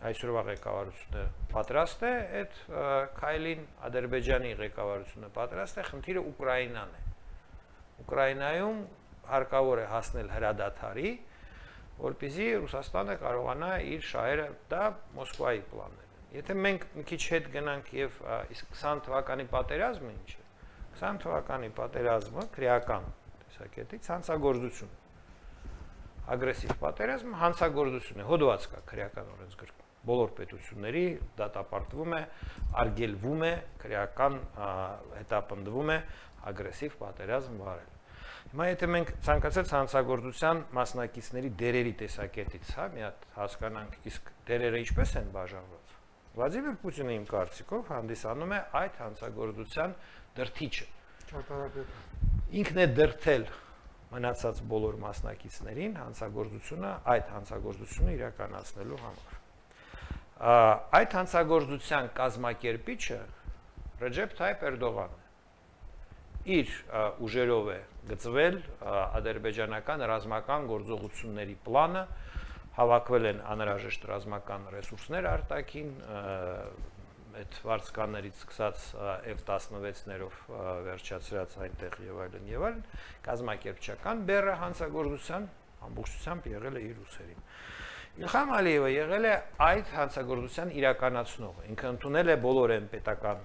այսօրվա ղեկավարությունը պատրաստ է այդ քայլին, Ադրբեջանի ղեկավարությունը պատրաստ է, խնդիրը Ուկրաինան է։ Ուկրաինայում հարկավոր է հասնել հրադադարի, որպեսզի Ռուսաստանը կարողանա իր շահերը, դա Մոսկվայի պլաններ են։ Եթե մենք մի քիչ հետ գնանք եւ իսկ 20 թվականի պատերազմը ինչ է։ 20 թվականի պատերազմը քրեական տեսակետից հանցագործություն։ Ագրեսիվ պատերազմը հանցագործություն է, հոդված կա քրեական օրենսգրքում։ Բոլոր պետությունների դատապարտվում է, արգելվում է, քրեական հետապնդվում է ագրեսիվ պատերազմ վարել։ Հիմա եթե մենք ցանկացած հանցագործության մասնակիցների դերերի տեսակետից, հա, մի հատ հասկանանք, իսկ դերերը ինչպես են բաժանված։ Վլադիմիր Պուտինը իմ կարծիքով հանդիսանում է այդ հանցագործության դրդիչը։ Ինքն է դրդել մնացած բոլոր մասնակիցներին այդ հանցագործությունը իրականացնելու համար։ Այդ հանցագործության կազմակերպիչը Ռեջեփ Թայիփ Էրդողանն է։ Իր ուժերով է գծվել ադրբեջանական ռազմական գործողությունների պլանը, հավաքվել են անհրաժեշտ ռազմական ռեսուրսներ արտաքին, այդ վարձկաններից սկսած F-16-ներով վերջացրած այնտեղ եւ այլն, կազմակերպչական բեռը հանցագործության ամբողջությամբ եղել է իր ուսերին։ Իլհամ Ալիևը եղել է այդ հանցագործության իրականացնողը, ինքը ընդունել է բոլոր այն պետական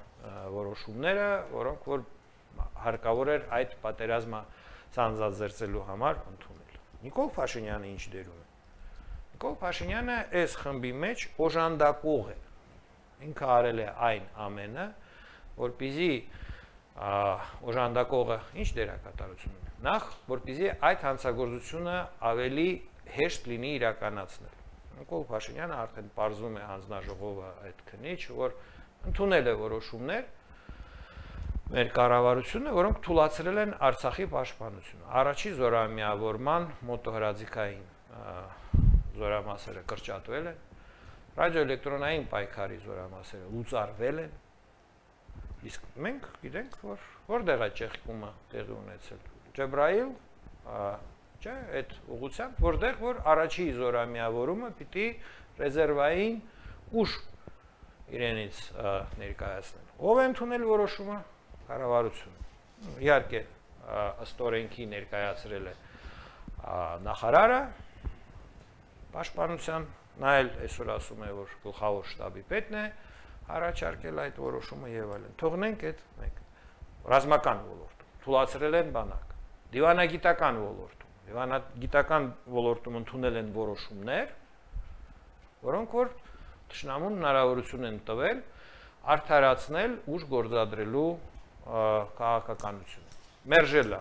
որոշումները, որոնք որ հարկավոր էր այդ պատերազմը սանձազերծելու համար ընդունել։ Նիկոլ Փաշինյանը ինչ դերում է։ Նիկոլ Փաշինյանը այս խմբի մեջ օժանդակող է։ Ինքը արել է այն ամենը, որպեսզի օժանդակողը ինչ դերակատարություն ունի։ Նախ, որպեսզի այդ հանցագործությունը ավելի հեշտ լինի իրականացնել։ Նիկոլ Փաշինյանը արդեն պարզվում է հանձնաժողովը այդ քնիչ, որ ընդունել է որոշումներ մեր կառավարությունը, որոնք թույլատրել են Արցախի պաշտպանությունը։ Առաջի զորամիավորման մոտոհրաձիգային զորամասերը կրճատվել են, ռադիոէլեկտրոնային պայքարի զորամասերը լուծարվել են, իսկ մենք գիտենք, որ որտեղ է ճեղքումը տեղի ունեցել։ Ջեբրայիլ, չէ, այդ ուղղությամբ, որտեղ որ առաջի զորամիավորումը պիտի ռեզերվային ուժ իրենից ներկայացնել։ Ով է ընդունել որոշումը։ Կառավարությունը։ Իհարկե, ըստ օրենքի ներկայացրել է նախարարը պաշտպանության, նա էլ այսօր ասում է, որ գլխավոր շտաբի պետն է առաջարկել այդ որոշումը եւ այլն։ Թողնենք այդ մեկ ռազմական ոլորտում թույլատրել են բանակ, դիվանագիտական ոլորտում, դիվանագիտական ոլորտում ընդունել են որոշումներ, որոնք որ թշնամուն հնարավորություն են տվել արդարացնել ուժ գործադրելու քաղաքականությունը։ Մերժել է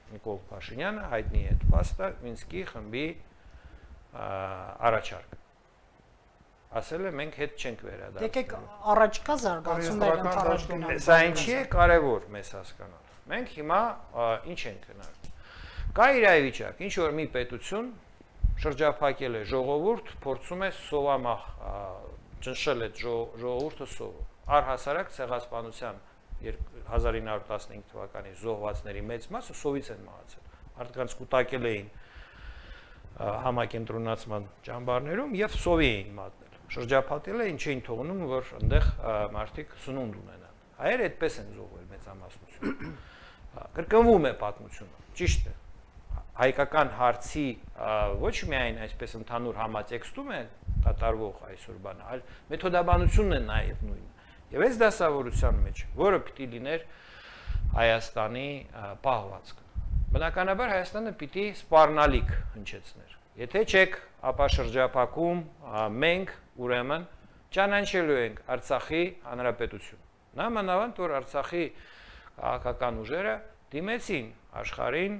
Նիկոլ Փաշինյանը, հայտնի է փաստը Մինսկի խմբի առաջարկ։ Ասել է մենք հետ չենք վերադարձնելու։ Եկեք առաջկա զարգացումներ ընդառաջ գնանք։ Սա ինչի է կարևոր մեզ հասկանալ։ Մենք հիմա ինչ ենք քննարկում։ Կա իրավիճակ, ինչ որ մի պետություն շրջափակել է ժողովուրդ, փորձում է սովամահ ճնշել այդ ժողովուրդը սովը։ Առհասարակ ցեղասպանության 1915 թվականի զոհվածների մեծ մասը սովից են մահացել։ Մարդկանց կուտակել էին համակենտրոնացման ճամբարներում եւ սովի էին մատնել։ Շրջափակել էին, չէին թողնում, որ այնտեղ մարդիկ սնունդ ունենան։ Հայերը այդպես են զոհվել մեծամասնություն։ Կրկնվում է պատմությունը, ճիշտ է։ Հայկական հարցի ոչ միայն այսպես ընդհանուր համատեքստում է կատարվող այսօր բանը, այլ մեթոդաբանությունն է նաև նույնը։ Եվ այս դասավորության մեջ, որը պիտի լիներ Հայաստանի պահվածքը։ Բնականաբար Հայաստանը պիտի սպառնալիք հնչեցներ։ Եթե չեք, ապա շրջափակում մենք ուրեմն ճանաչելու ենք Արցախի հանրապետություն։ Նամանավանդ որ Արցախի քաղաքական ուժերը դիմեցին աշխարհին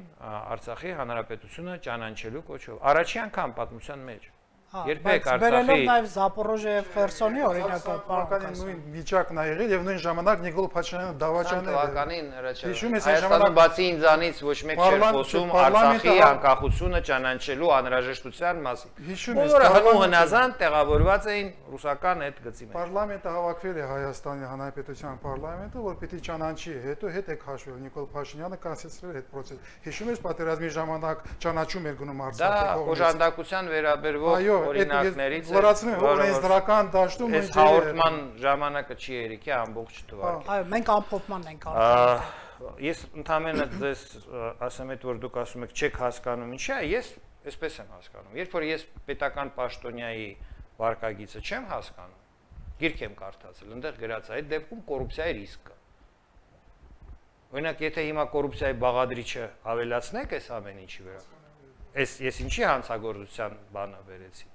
Արցախի հանրապետությունը ճանաչելու կոչով։ Առաջի անգամ պատմության մեջ։ Երբեք Բերելով Արցախի նաև Զապորոժիա եւ Խերսոնի օրինակը Պարոն նույն վիճակն ա եղել եւ նույն ժամանակ Նիկոլ Փաշինյանը դավաճանել է։ թվականին Հիշում ես, Հայաստանը բացի ինձանից ոչ մեկ չէր խոսում Արցախի անկախությունը ճանաչելու անհրաժեշտության մասին։ Բոլորը հնու հնազանդ տեղավորված էին ռուսական այդ գծի մեջ։ Պարլամենտը հավաքվել է Հայաստանի Հանրապետության պարլամենտը, որ պիտի ճանաչի, հետո հետ է քաշվել Նիկոլ Փաշինյանը կանցեցրել այդ process։ Հիշում ես պատերազմի ժամանակ ճանաչում էր գնում Արցախի կողմից։ Դա օժանդակության վերաբերող օրինակներից լրացնում է, որ օրենսդրական դաշտում այս հաղորդման ժամանակը չի երիքի ամբողջ թվարկի։ Այո, մենք ամփոփման ենք անում։ Ես ընդհանրապես ձեզ ասեմ այդ որ դուք ասում եք չեք հասկանում ինչա, ես այսպես եմ հասկանում։ Երբ որ ես պետական պաշտոնյայի վարկագիծը չեմ հասկանում, գիրք եմ կարդացել, այնտեղ գրած է այդ դեպքում կոռուպցիայի ռիսկ կա։ Օրինակ, եթե հիմա կոռուպցիայի բաղադրիչը ավելացնեք այս ամեն ինչի վրա, ես ինչի հանցագործության բանը վերեցի։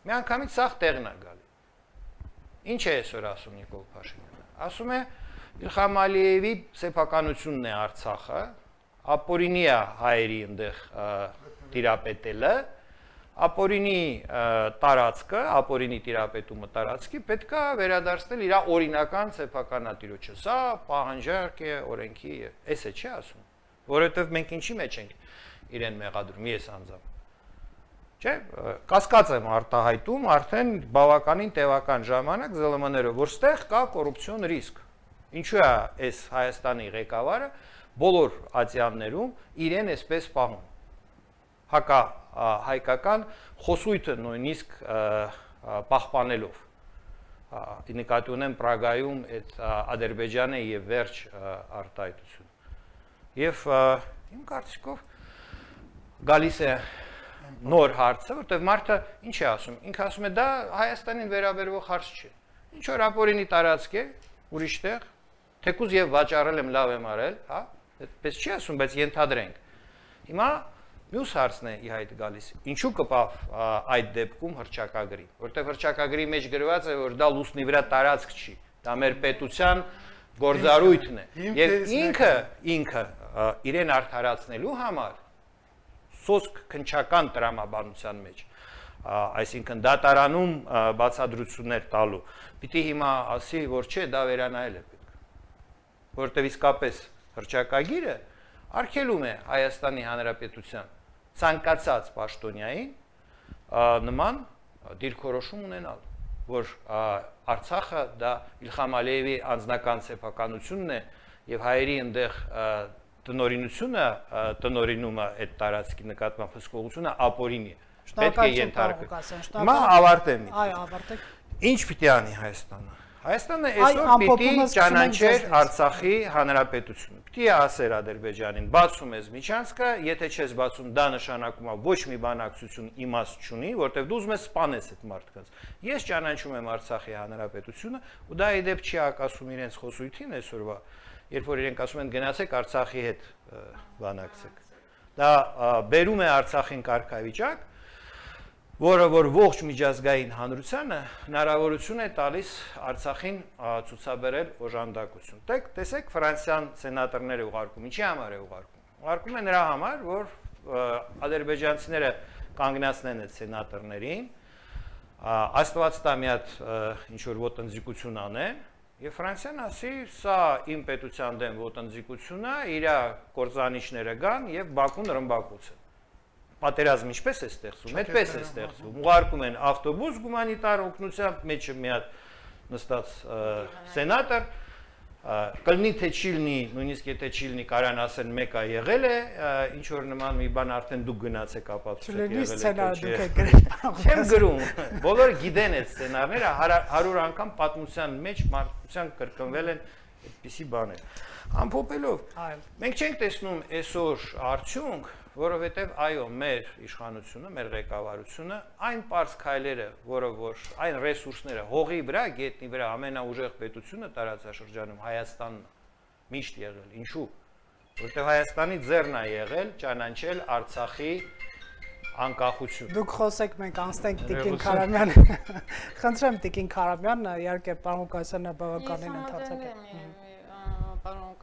Մի անգամից սաղ տեղն է գալի։ Ինչ է այսօր ասում Նիկոլ Փաշինյանը։ Ասում է Իլխամ Ալիևի սեփականությունն է Արցախը, ապօրինի է հայերի այնտեղ տիրապետելը, ապօրինի տարածքը, ապօրինի տիրապետումը տարածքի պետք է վերադարձնել իր օրինական սեփականատիրոջը։ Սա պահանջարկ է օրենքի, էս է չի ասում, որովհետև մենք ինչի մեջ ենք իրեն մեղադրում, ես անձամբ։ Չէ, կասկած եմ արտահայտում արդեն բավականին տևական ժամանակ ԶԼՄ-ները, որ ստեղ կա կոռուպցիոն ռիսկ։ Ինչու է այս Հայաստանի ղեկավարը բոլոր ատյաններում իրեն այսպես պահում։ Հայկական խոսույթը նույնիսկ պահպանելով։ Նկատի ունեմ Պրագայում այդ Ադրբեջանը եւ վերջ արտահայտություն։ Եվ իմ կարծիքով գալիս է նոր հարցը, որտեղ մարդը ինչ է ասում։ Ինքը ասում է դա Հայաստանին վերաբերող հարց չէ։ Ինչ որ ապօրինի տարածք է, ուրիշ տեղ, թեկուզ եւ վաճառել եմ, լավ եմ արել, հա, այդպես չի ասում, բայց ենթադրենք։ Հիմա մյուս հարցն է ի հայտ գալիս։ Ինչու կպավ այդ դեպքում հռչակագրի, որտեղ հռչակագրի մեջ գրված է, որ դա լուսնի վրա տարածք չի, դա մեր պետության գործառույթն է։ Եվ ինքը իրեն արդարացնելու համար սոսկ քնչական տրամաբանության մեջ, այսինքն դատարանում բացադրություններ տալու, պիտի հիմա ասի, որ չէ, դա վերանայել է պետք, որտեղ իսկապես հռչակագիրը արգելում է Հայաստանի Հանրապետության ցանկացած պաշտոնյային նման դիրքորոշում ունենալ, որ Արցախը դա Իլխամ Ալիևի անձնական սեփականությունն է եւ հայերի այնտեղ տնօրինումը այդ տարածքի նկատմամբ հսկողությունը ապօրինի է։ Պետք է ենթարկել։ Հիմա ավարտեմ։ Այո, ավարտեք։ Ինչ պիտի անի Հայաստանը։ Հայաստանը այսօր պիտի ճանաչեր Արցախի հանրապետությունը։ Պիտի ասեր Ադրբեջանին, բացում ես միջանցքը, եթե չես բացում, դա նշանակում է ոչ մի բանակցություն իմաստ չունի, որտեղ դու ուզում ես սպանես այդ մարդկանց։ Ես ճանաչում եմ Արցախի հանրապետությունը, ու դա ի դեպ չի ակասում իրենց խոսույթին այսօրվա, երբ որ իրենք ասում են գնացեք Արցախի հետ բանակցեք։ Դա բերում է Արցախին կարգավիճակ, որը որ ողջ միջազգային հանրությանը հնարավորություն է տալիս Արցախին ցուցաբերել օժանդակություն։ Տեսեք Ֆրանսիան սենատորները ուղարկում, ինչի համար է ուղարկում։ Ուղարկում է նրա համար, որ ադրբեջանցիները կանգնացնեն այդ սենատորներին, Աստված տա մի հատ ինչ որ ոտնձգություն անեն, եւ Ֆրանսիան ասի, սա իմ պետության դեմ ոտնձգություն է, իր կործանիչները գան եւ Բաքուն ռմբակոծեն։ Պատերազմ ինչպես է ստեղծում, այդպես է ստեղծում։ Ուղարկում են ավտոբուս գումանիտար օգնությամբ, մեջը մի հատ նստած սենատոր, կլինի թե չի լինի, նույնիսկ եթե չի լինի, կարան ասեն մեկը եղել է, ինչ որ նման մի բան արդեն դուք գնացեք ապացուցեք եղել է։ Չեմ գրում, բոլորը գիտեն այդ սցենարները, 100 անգամ պատմության մեջ մարդկության կրկնվել են այդպիսի բաներ։ Ամփոփելով, մենք չենք տեսնում այսօր արդյունք, որովհետև այո, մեր իշխանությունը, մեր ղեկավարությունը, այն պարզ քայլերը, որը որ այն ռեսուրսները հողի վրա, գետնի վրա ամենաուժեղ պետությունը տարածաշրջանում Հայաստանն է միշտ եղել։ Ինչու՞։ Որովհետև Հայաստանի ձեռն է եղել ճանաչել Արցախի անկախություն։ Դուք խոսեք, մենք անցնենք Տիկին Քարամյան։ Խնդրեմ Տիկին Քարամյան, իհարկե պարոն Ղուկասյանը բավականին ընդհանրացակ է։ Պարոն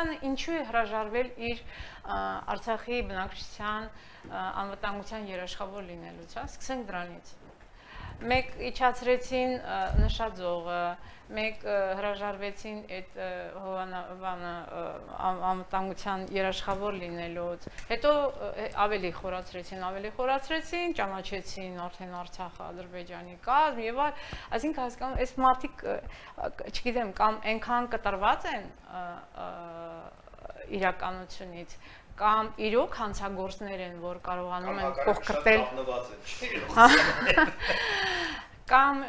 Հայաստանը ինչու է հրաժարվել իր Արցախի բնակչության անվտանգության երաշխավոր լինելուց, հա, սկսենք դրանից։ Մեկ իջացրեցին նշաձողը, մեկ հրաժարվեցին այդ հովանավանը անվտանգության երաշխավոր լինելուց, հետո ավելի խորացրեցին, ճանաչեցին արդեն Արցախը Ադրբեջանի կազմ եւ այլ, այսինքն հասկանում այս մարդիկ, չգիտեմ, կամ այնքան կտրված են իրականությունից, կամ իրոք հանցագործներ են, որ կարողանում են կողքրտել, կամ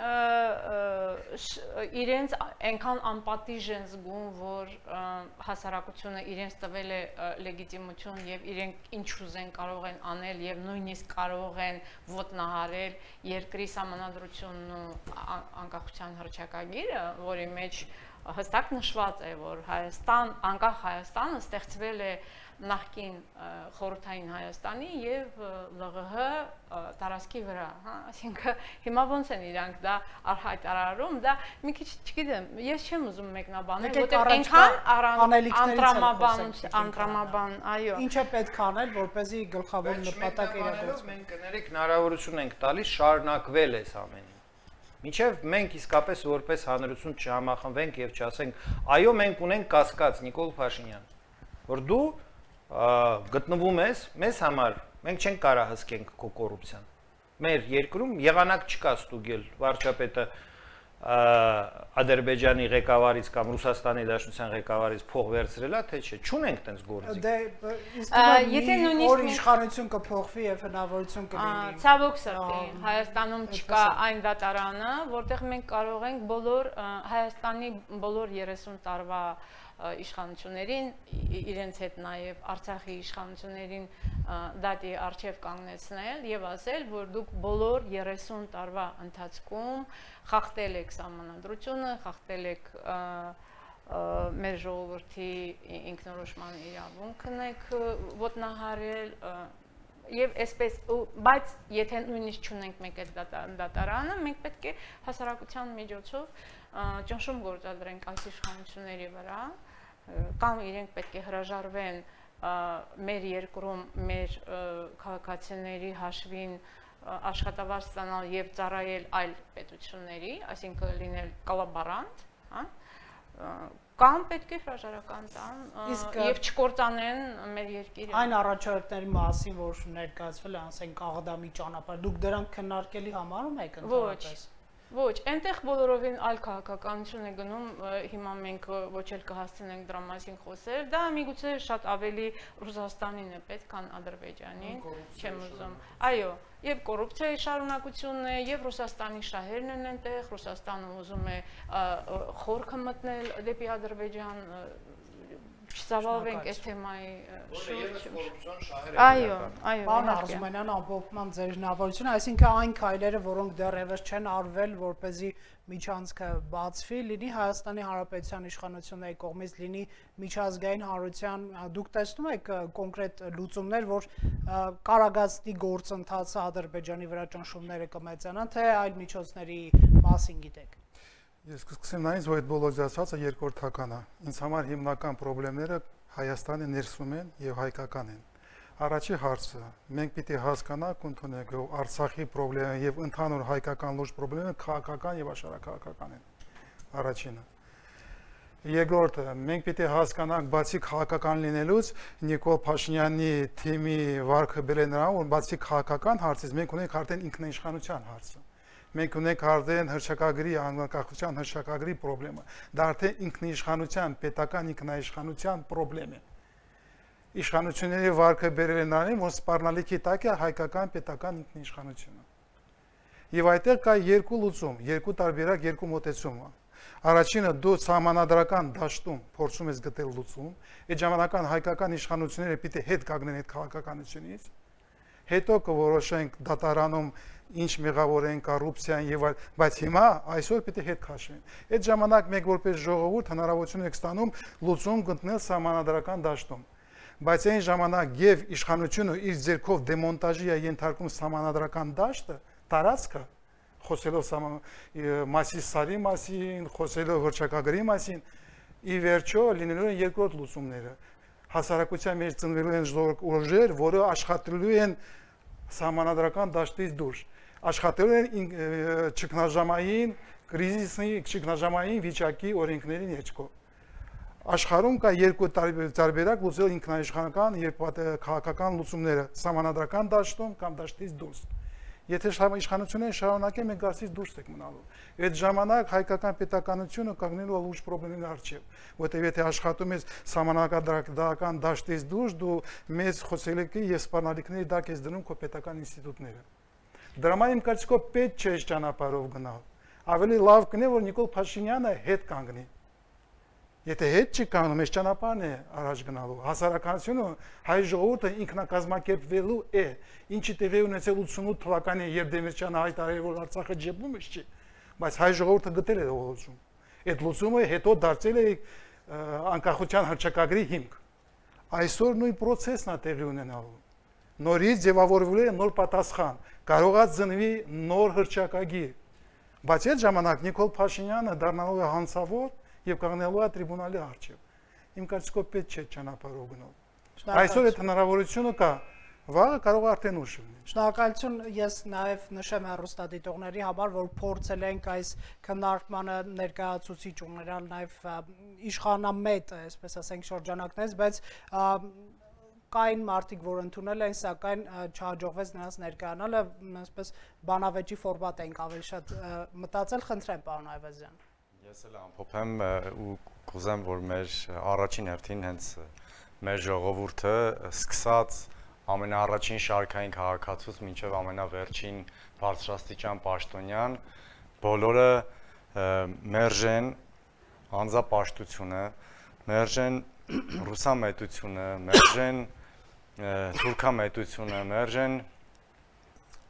իրենց այնքան անպատիժ են զգում, որ հասարակությունը իրենց տվել է լեգիտիմություն եւ իրենք ինչ ուզեն կարող են անել եւ նույնիսկ կարող են ոտնահարել երկրի սահմանադրությունն ու անկախության հռչակագիրը, որի մեջ հստակ նշված է, որ անկախ Հայաստանը ստեղծվել է նախկին խորհրդային Հայաստանի եւ ԼՂՀ տարածքի վրա, հա, այսինքն հիմա ոնց են իրանք դա հայտարարում, դա մի քիչ չգիտեմ, ես չեմ ուզում մեկնաբանել, որտեղ այնքան անդրամաբան, այո։ Ինչ է պետք անել, որպեսզի գլխավոր նպատակը իրագործվի։ Մենք կներեք հնարավորություն ենք տալիս շարունակվել այս ամենը։ Մինչև մենք իսկապես որպես հանրություն չհամախմբենք եւ չասենք, այո, մենք ունենք կասկած, Նիկոլ Փաշինյան, որ դու գտնվում ես մեզ համար, մենք չենք կարա հսկենք քո կոռուպցիան։ Մեր երկրում եղանակ չկա ստուգել վարչապետը Ադրբեջանի ղեկավարից կամ Ռուսաստանի Դաշնության ղեկավարից փող վերցրելա, թե չէ, չունենք տենց գործի։ Եթե նույնիսկ իշխանություն կփոխվի եւ հնարավորություն կլինի։ Ցավոք սրտի, Հայաստանում չկա այն դատարանը, որտեղ մենք կարող ենք բոլոր Հայաստանի բոլոր 30 տարվա իշխանություններին, իրենց հետ նաև Արցախի իշխանություններին դատի առջև կանգնեցնել եւ ասել, որ դուք բոլոր 30 տարվա ընթացքում խախտել եք սահմանադրությունը, խախտել եք մեր ժողովրդի ինքնորոշման իրավունքն եք ոտնահարել եւ այսպես, բայց եթե նույնիսկ չունենք մենք այդ դատարանը, մենք պետք է հասարակության միջոցով ճնշում գործադրենք այս իշխանությունների վրա, կամ իրենք պետք է հրաժարվեն մեր երկրում մեր քաղաքացիների հաշվին աշխատավարձ ստանալ եւ ծառայել այլ պետությունների, այսինքն լինել կոլաբորանտ, հա, կամ պետք է հրաժարական տան եւ չկործանեն մեր երկիրը։ Այն առաջարկների մասին, որ ներկայացվել է, ասենք աղդամի ճանապարհ, դուք դրանք քննարկելի համարում եք ընդհանրապես։ Ոչ, այնտեղ բոլորովին այլ քաղաքականություն է գնում, հիմա մենք ոչ էլ կհասցնենք դրա մասին խոսել, դա միգուցե շատ ավելի Ռուսաստանին է պետք, քան Ադրբեջանին, չեմ ուզում։ Այո, եւ կոռուպցիայի շարունակությունն է, եւ Ռուսաստանի շահերն են այնտեղ, Ռուսաստանը ուզում է խորքը մտնել դեպի Ադրբեջան, չզավալվենք այս թեմայի շուրջ։ Այո, այո։ Պարոն Արզումանյան, ամփոփման ձեր հնարավորությունը, այսինքն այն քայլերը, որոնք դեռևս չեն արվել, որպեսզի միջանցքը բացվի, լինի Հայաստանի Հանրապետության իշխանությունների կողմից, լինի միջազգային հանրության, դուք տեսնում եք կոնկրետ լուծումներ, որ կարագացնի գործընթացը Ադրբեջանի վրա ճնշումները կմեծանան, թե այլ միջոցների մասին գիտեք։ Ես կսկսեմ նայից, որ այդ բոլոր ասածը երկրորդական է։ Ինձ համար հիմնական խնդիրները Հայաստանի ներսում են եւ հայկական են։ Առաջի հարցը, մենք պիտի հասկանանք, ընդունենք, որ Արցախի խնդիրը եւ ընդհանուր հայկական լուրջ խնդիրները քաղաքական եւ աշխարհակաղակական են։ Առաջինը։ Երկրորդը, մենք պիտի հասկանանք, բացի քաղաքական լինելուց, Նիկոլ Փաշինյանի թիմի վարքը բերել նրան, որ բացի քաղաքական հարցից մենք ունենք արդեն ինքնաիշխանության հարցը։ Մենք ունենք արդեն հռչակագրի անկախության հռչակագրի խնդրը։ Դա արդեն ինքնիշխանության, պետական ինքնաիշխանության խնդրեմ է։ Իշխանությունների վարքը բերել են նրան, որ սպառնալիքի տակ է հայկական պետական ինքնիշխանությունը։ Եվ այդտեղ կա երկու լուծում, երկու տարբերակ, երկու մոտեցում։ Առաջինը դու սահմանադրական դաշտում փորձում ես գտել լուծում, այդ ժամանական հայկական իշխանությունները պիտի հետ կանգնեն այդ քաղաքականությունից, հետո կորոշենք դատարանում ինչ մեղավորեն կոռուպցիան եւ այլ, բայց հիմա այսօր պիտի հետ քաշվեն։ Այդ ժամանակ մենք որպես ժողովուրդ հնարավորություն ենք ստանում լուծում գտնել սահմանադրական դաշտում։ Բայց այն ժամանակ եւ իշխանությունը իր ձեռքով դեմոնտաժի է ենթարկում սահմանադրական դաշտը, տարածքը, խոսելով Մասիսարի մասին, խոսելով հռչակագրի մասին, ի վերջո լինելու են երկրորդ լուծումները։ Հասարակության մեջ ծնվելու են ուժեր, որը աշխատելու են սահմանադրական դաշտից դուրս, աշխատելու են ճգնաժամային կրիզիսի, ճգնաժամային վիճակի օրենքների ներքո։ Աշխարհում կա երկու տարբերակ լուծել ինքնաիշխանական եւ քաղաքական լուծումները՝ սահմանադրական դաշտում կամ դաշտից դուրս։ Եթե իշխանությունը շարունակի, մենք դարձից դուրս ենք մնալու։ Այդ ժամանակ հայկական պետականությունը կանգնելու է լուրջ խնդիրների առջև, որտեղ եթե աշխատում ես սահմանադրական դաշտից դուրս, դու մեծ խոսելիքի եւ սպառնալիքների դակ ես դնում քո պետական ինստիտուտները։ Դրա համար իմ կարծիքով պետք չէ ճանապարհով գնալ։ Ավելի լավ կնե որ Նիկոլ Փաշինյանը հետ կանգնի։ Եթե հետ չի կանգնում, այս ճանապարհն է առաջ գնալու։ Հասարակությունը հայ ժողովուրդը ինքնակազմակերպվելու է, ինչի տեղի ունեցել 88 թվականին, երբ Դեմիրճյանը հայտարարել որ Արցախը ջեբում է, չի, բայց հայ ժողովուրդը գտել է լուծում։ Այդ լուծումը հետո դարձել է անկախության հռչակագրի հիմք։ Այսօր նույն process-ն է տեղի ունենալու։ Նորից ձևավորվելու է նոր պատասխան, կարողա ծնվի նոր հռչակագիր։ Բայց այդ ժամանակ Նիկոլ Փաշինյանը դառնալու է հանցավոր եւ կանգնելու է տրիբունալի առջև։ Իմ կարծիքով պետք չէ ճանապարհով գնալ։ Այսօր այդ հնարավորությունը կա, վաղը կարող է արդեն ուշ լինի։ Շնորհակալություն, ես նաեւ նշեմ հեռուստադիտողների համար, որ փորձել ենք այս քննարկմանը ներկայացուցիչ ունենալ նաեւ իշխանամետ, այսպես ասենք, շրջանակներից, բայց կային մարդիկ, որ ընդունել են, սակայն չհաջողվեց նրանց ներկայանալը, այսպես բանավեճի ֆորմատ ենք ավելի շատ մտածել, խնդրեմ, պարոն Այվազյան։ Ես էլ ամփոփեմ ու կուզեմ, որ մեր առաջին հերթին հենց մեր ժողովուրդը սկսած ամենաառաջին շարքային քաղաքացուց մինչև ամենավերջին բարձրաստիճան պաշտոնյան, բոլորը մերժեն անձապաշտությունը, մերժեն ռուսամետությունը, մերժեն թուրքամետությունը, մերժեն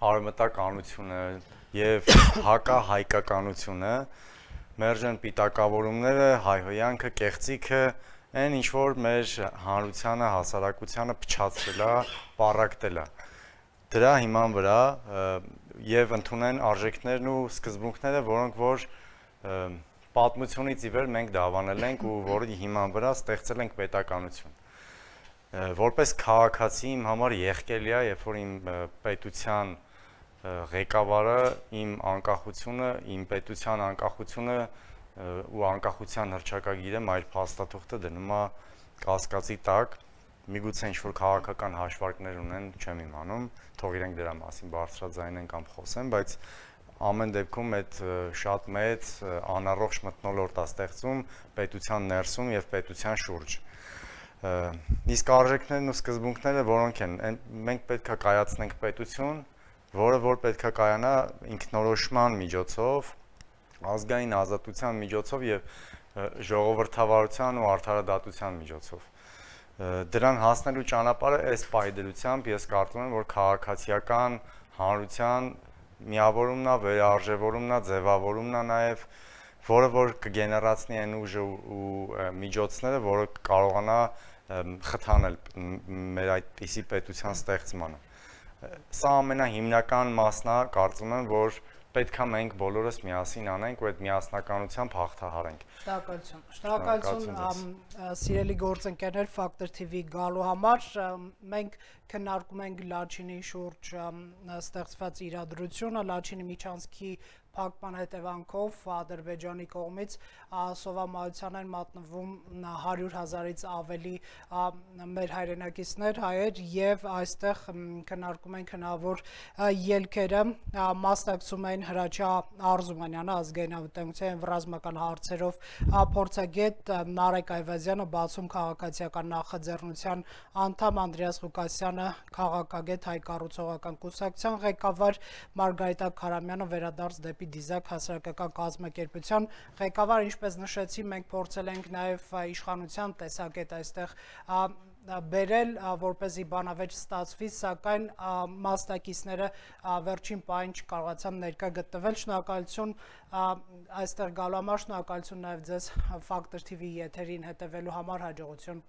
արևմտականությունը եւ հակահայկականությունը, մերժեն պիտակավորումները, հայհոյանքը, կեղծիքը, այն ինչ որ մեր հանրությանը, հասարակությանը փչացրել է, պառակտել է։ Դրա հիման վրա եւ ընդունեն արժեքներն ու սկզբունքները, որոնք որ պատմությունից ի վեր մենք դավանել ենք ու որի հիման վրա ստեղծել ենք պետականություն։ Որպես քաղաքացի իմ համար եղկելի է, երբ որ իմ պետության ղեկավարը իմ անկախությունը, իմ պետության անկախությունը ու անկախության հռչակագիրը մայր փաստաթուղթը դնում է կասկածի տակ, միգուցե ինչ-որ քաղաքական հաշվարկներ ունեն, չեմ իմանում, թող իրենք դրա մասին բարձրաձայնեն կամ խոսեն, բայց ամեն դեպքում այդ շատ մեծ անառողջ մթնոլորտ է ստեղծում պետության ներսում եւ պետության շուրջ։ Իսկ արժեքներն ու սկզբունքները որոնք են, մենք պետք է կայացնենք պետություն, որը որ պետք է կայանա ինքնորոշման միջոցով, ազգային ազատության միջոցով եւ ժողովրդավարության ու արդարադատության միջոցով։ Դրան հասնելու ճանապարհը այս պահի ես կարծում եմ, որ քաղաքացիական հանրության միավորումն է, վերարժևորումն է, ձևավորումն է նաև, որը որ կգեներացնի այն ուժը ու միջոցները, որը կարողանա խթանել մեր այդպիսի պետության ստեղծմանը։ Սա ամենահիմնական մասն է, կարծում եմ, որ պետք է մենք բոլորս միասին անենք ու այդ միասնականությամբ հաղթահարենք։ Շնորհակալություն, սիրելի գործընկերներ, Factor TV գալու համար։ Մենք քննարկում ենք Լաչինի շուրջ ստեղծված իրադրությունը, Լաչինի միջանցքի փակման հետևանքով Ադրբեջանի կողմից սովամահության են մատնվում 100,000-ից ավելի մեր հայրենակիցներ, հայեր, եւ այստեղ քննարկում ենք հնարավոր ելքերը, մասնակցում են Հրաչյա Արզումանյանը, ազգային անվտանգության եւ ռազմական հարցերով փորձագետ, Նարեկ Այվազյանը, բացում քաղաքացիական նախաձեռնության անդամ, Անդրեաս Ղուկասյանը, քաղաքագետ, հայ կառուցողական կուսակցության ղեկավար, Մարգարիտա Քարամյանը, վերադարձ դեպի Դիզակ հասարակական կազմակերպության ղեկավար, ինչպես նշեցի, մենք փորձել ենք նաև իշխանության տեսակետ այստեղ բերել, որպեսզի բանավեճ ստացվի, սակայն մասնակիցները վերջին պահին չկարողացան ներկա գտնվել։ Շնորհակալություն այստեղ գալու համար, շնորհակալություն նաև ձեզ Factor TV եթերին հետևելու համար, հաջողություն։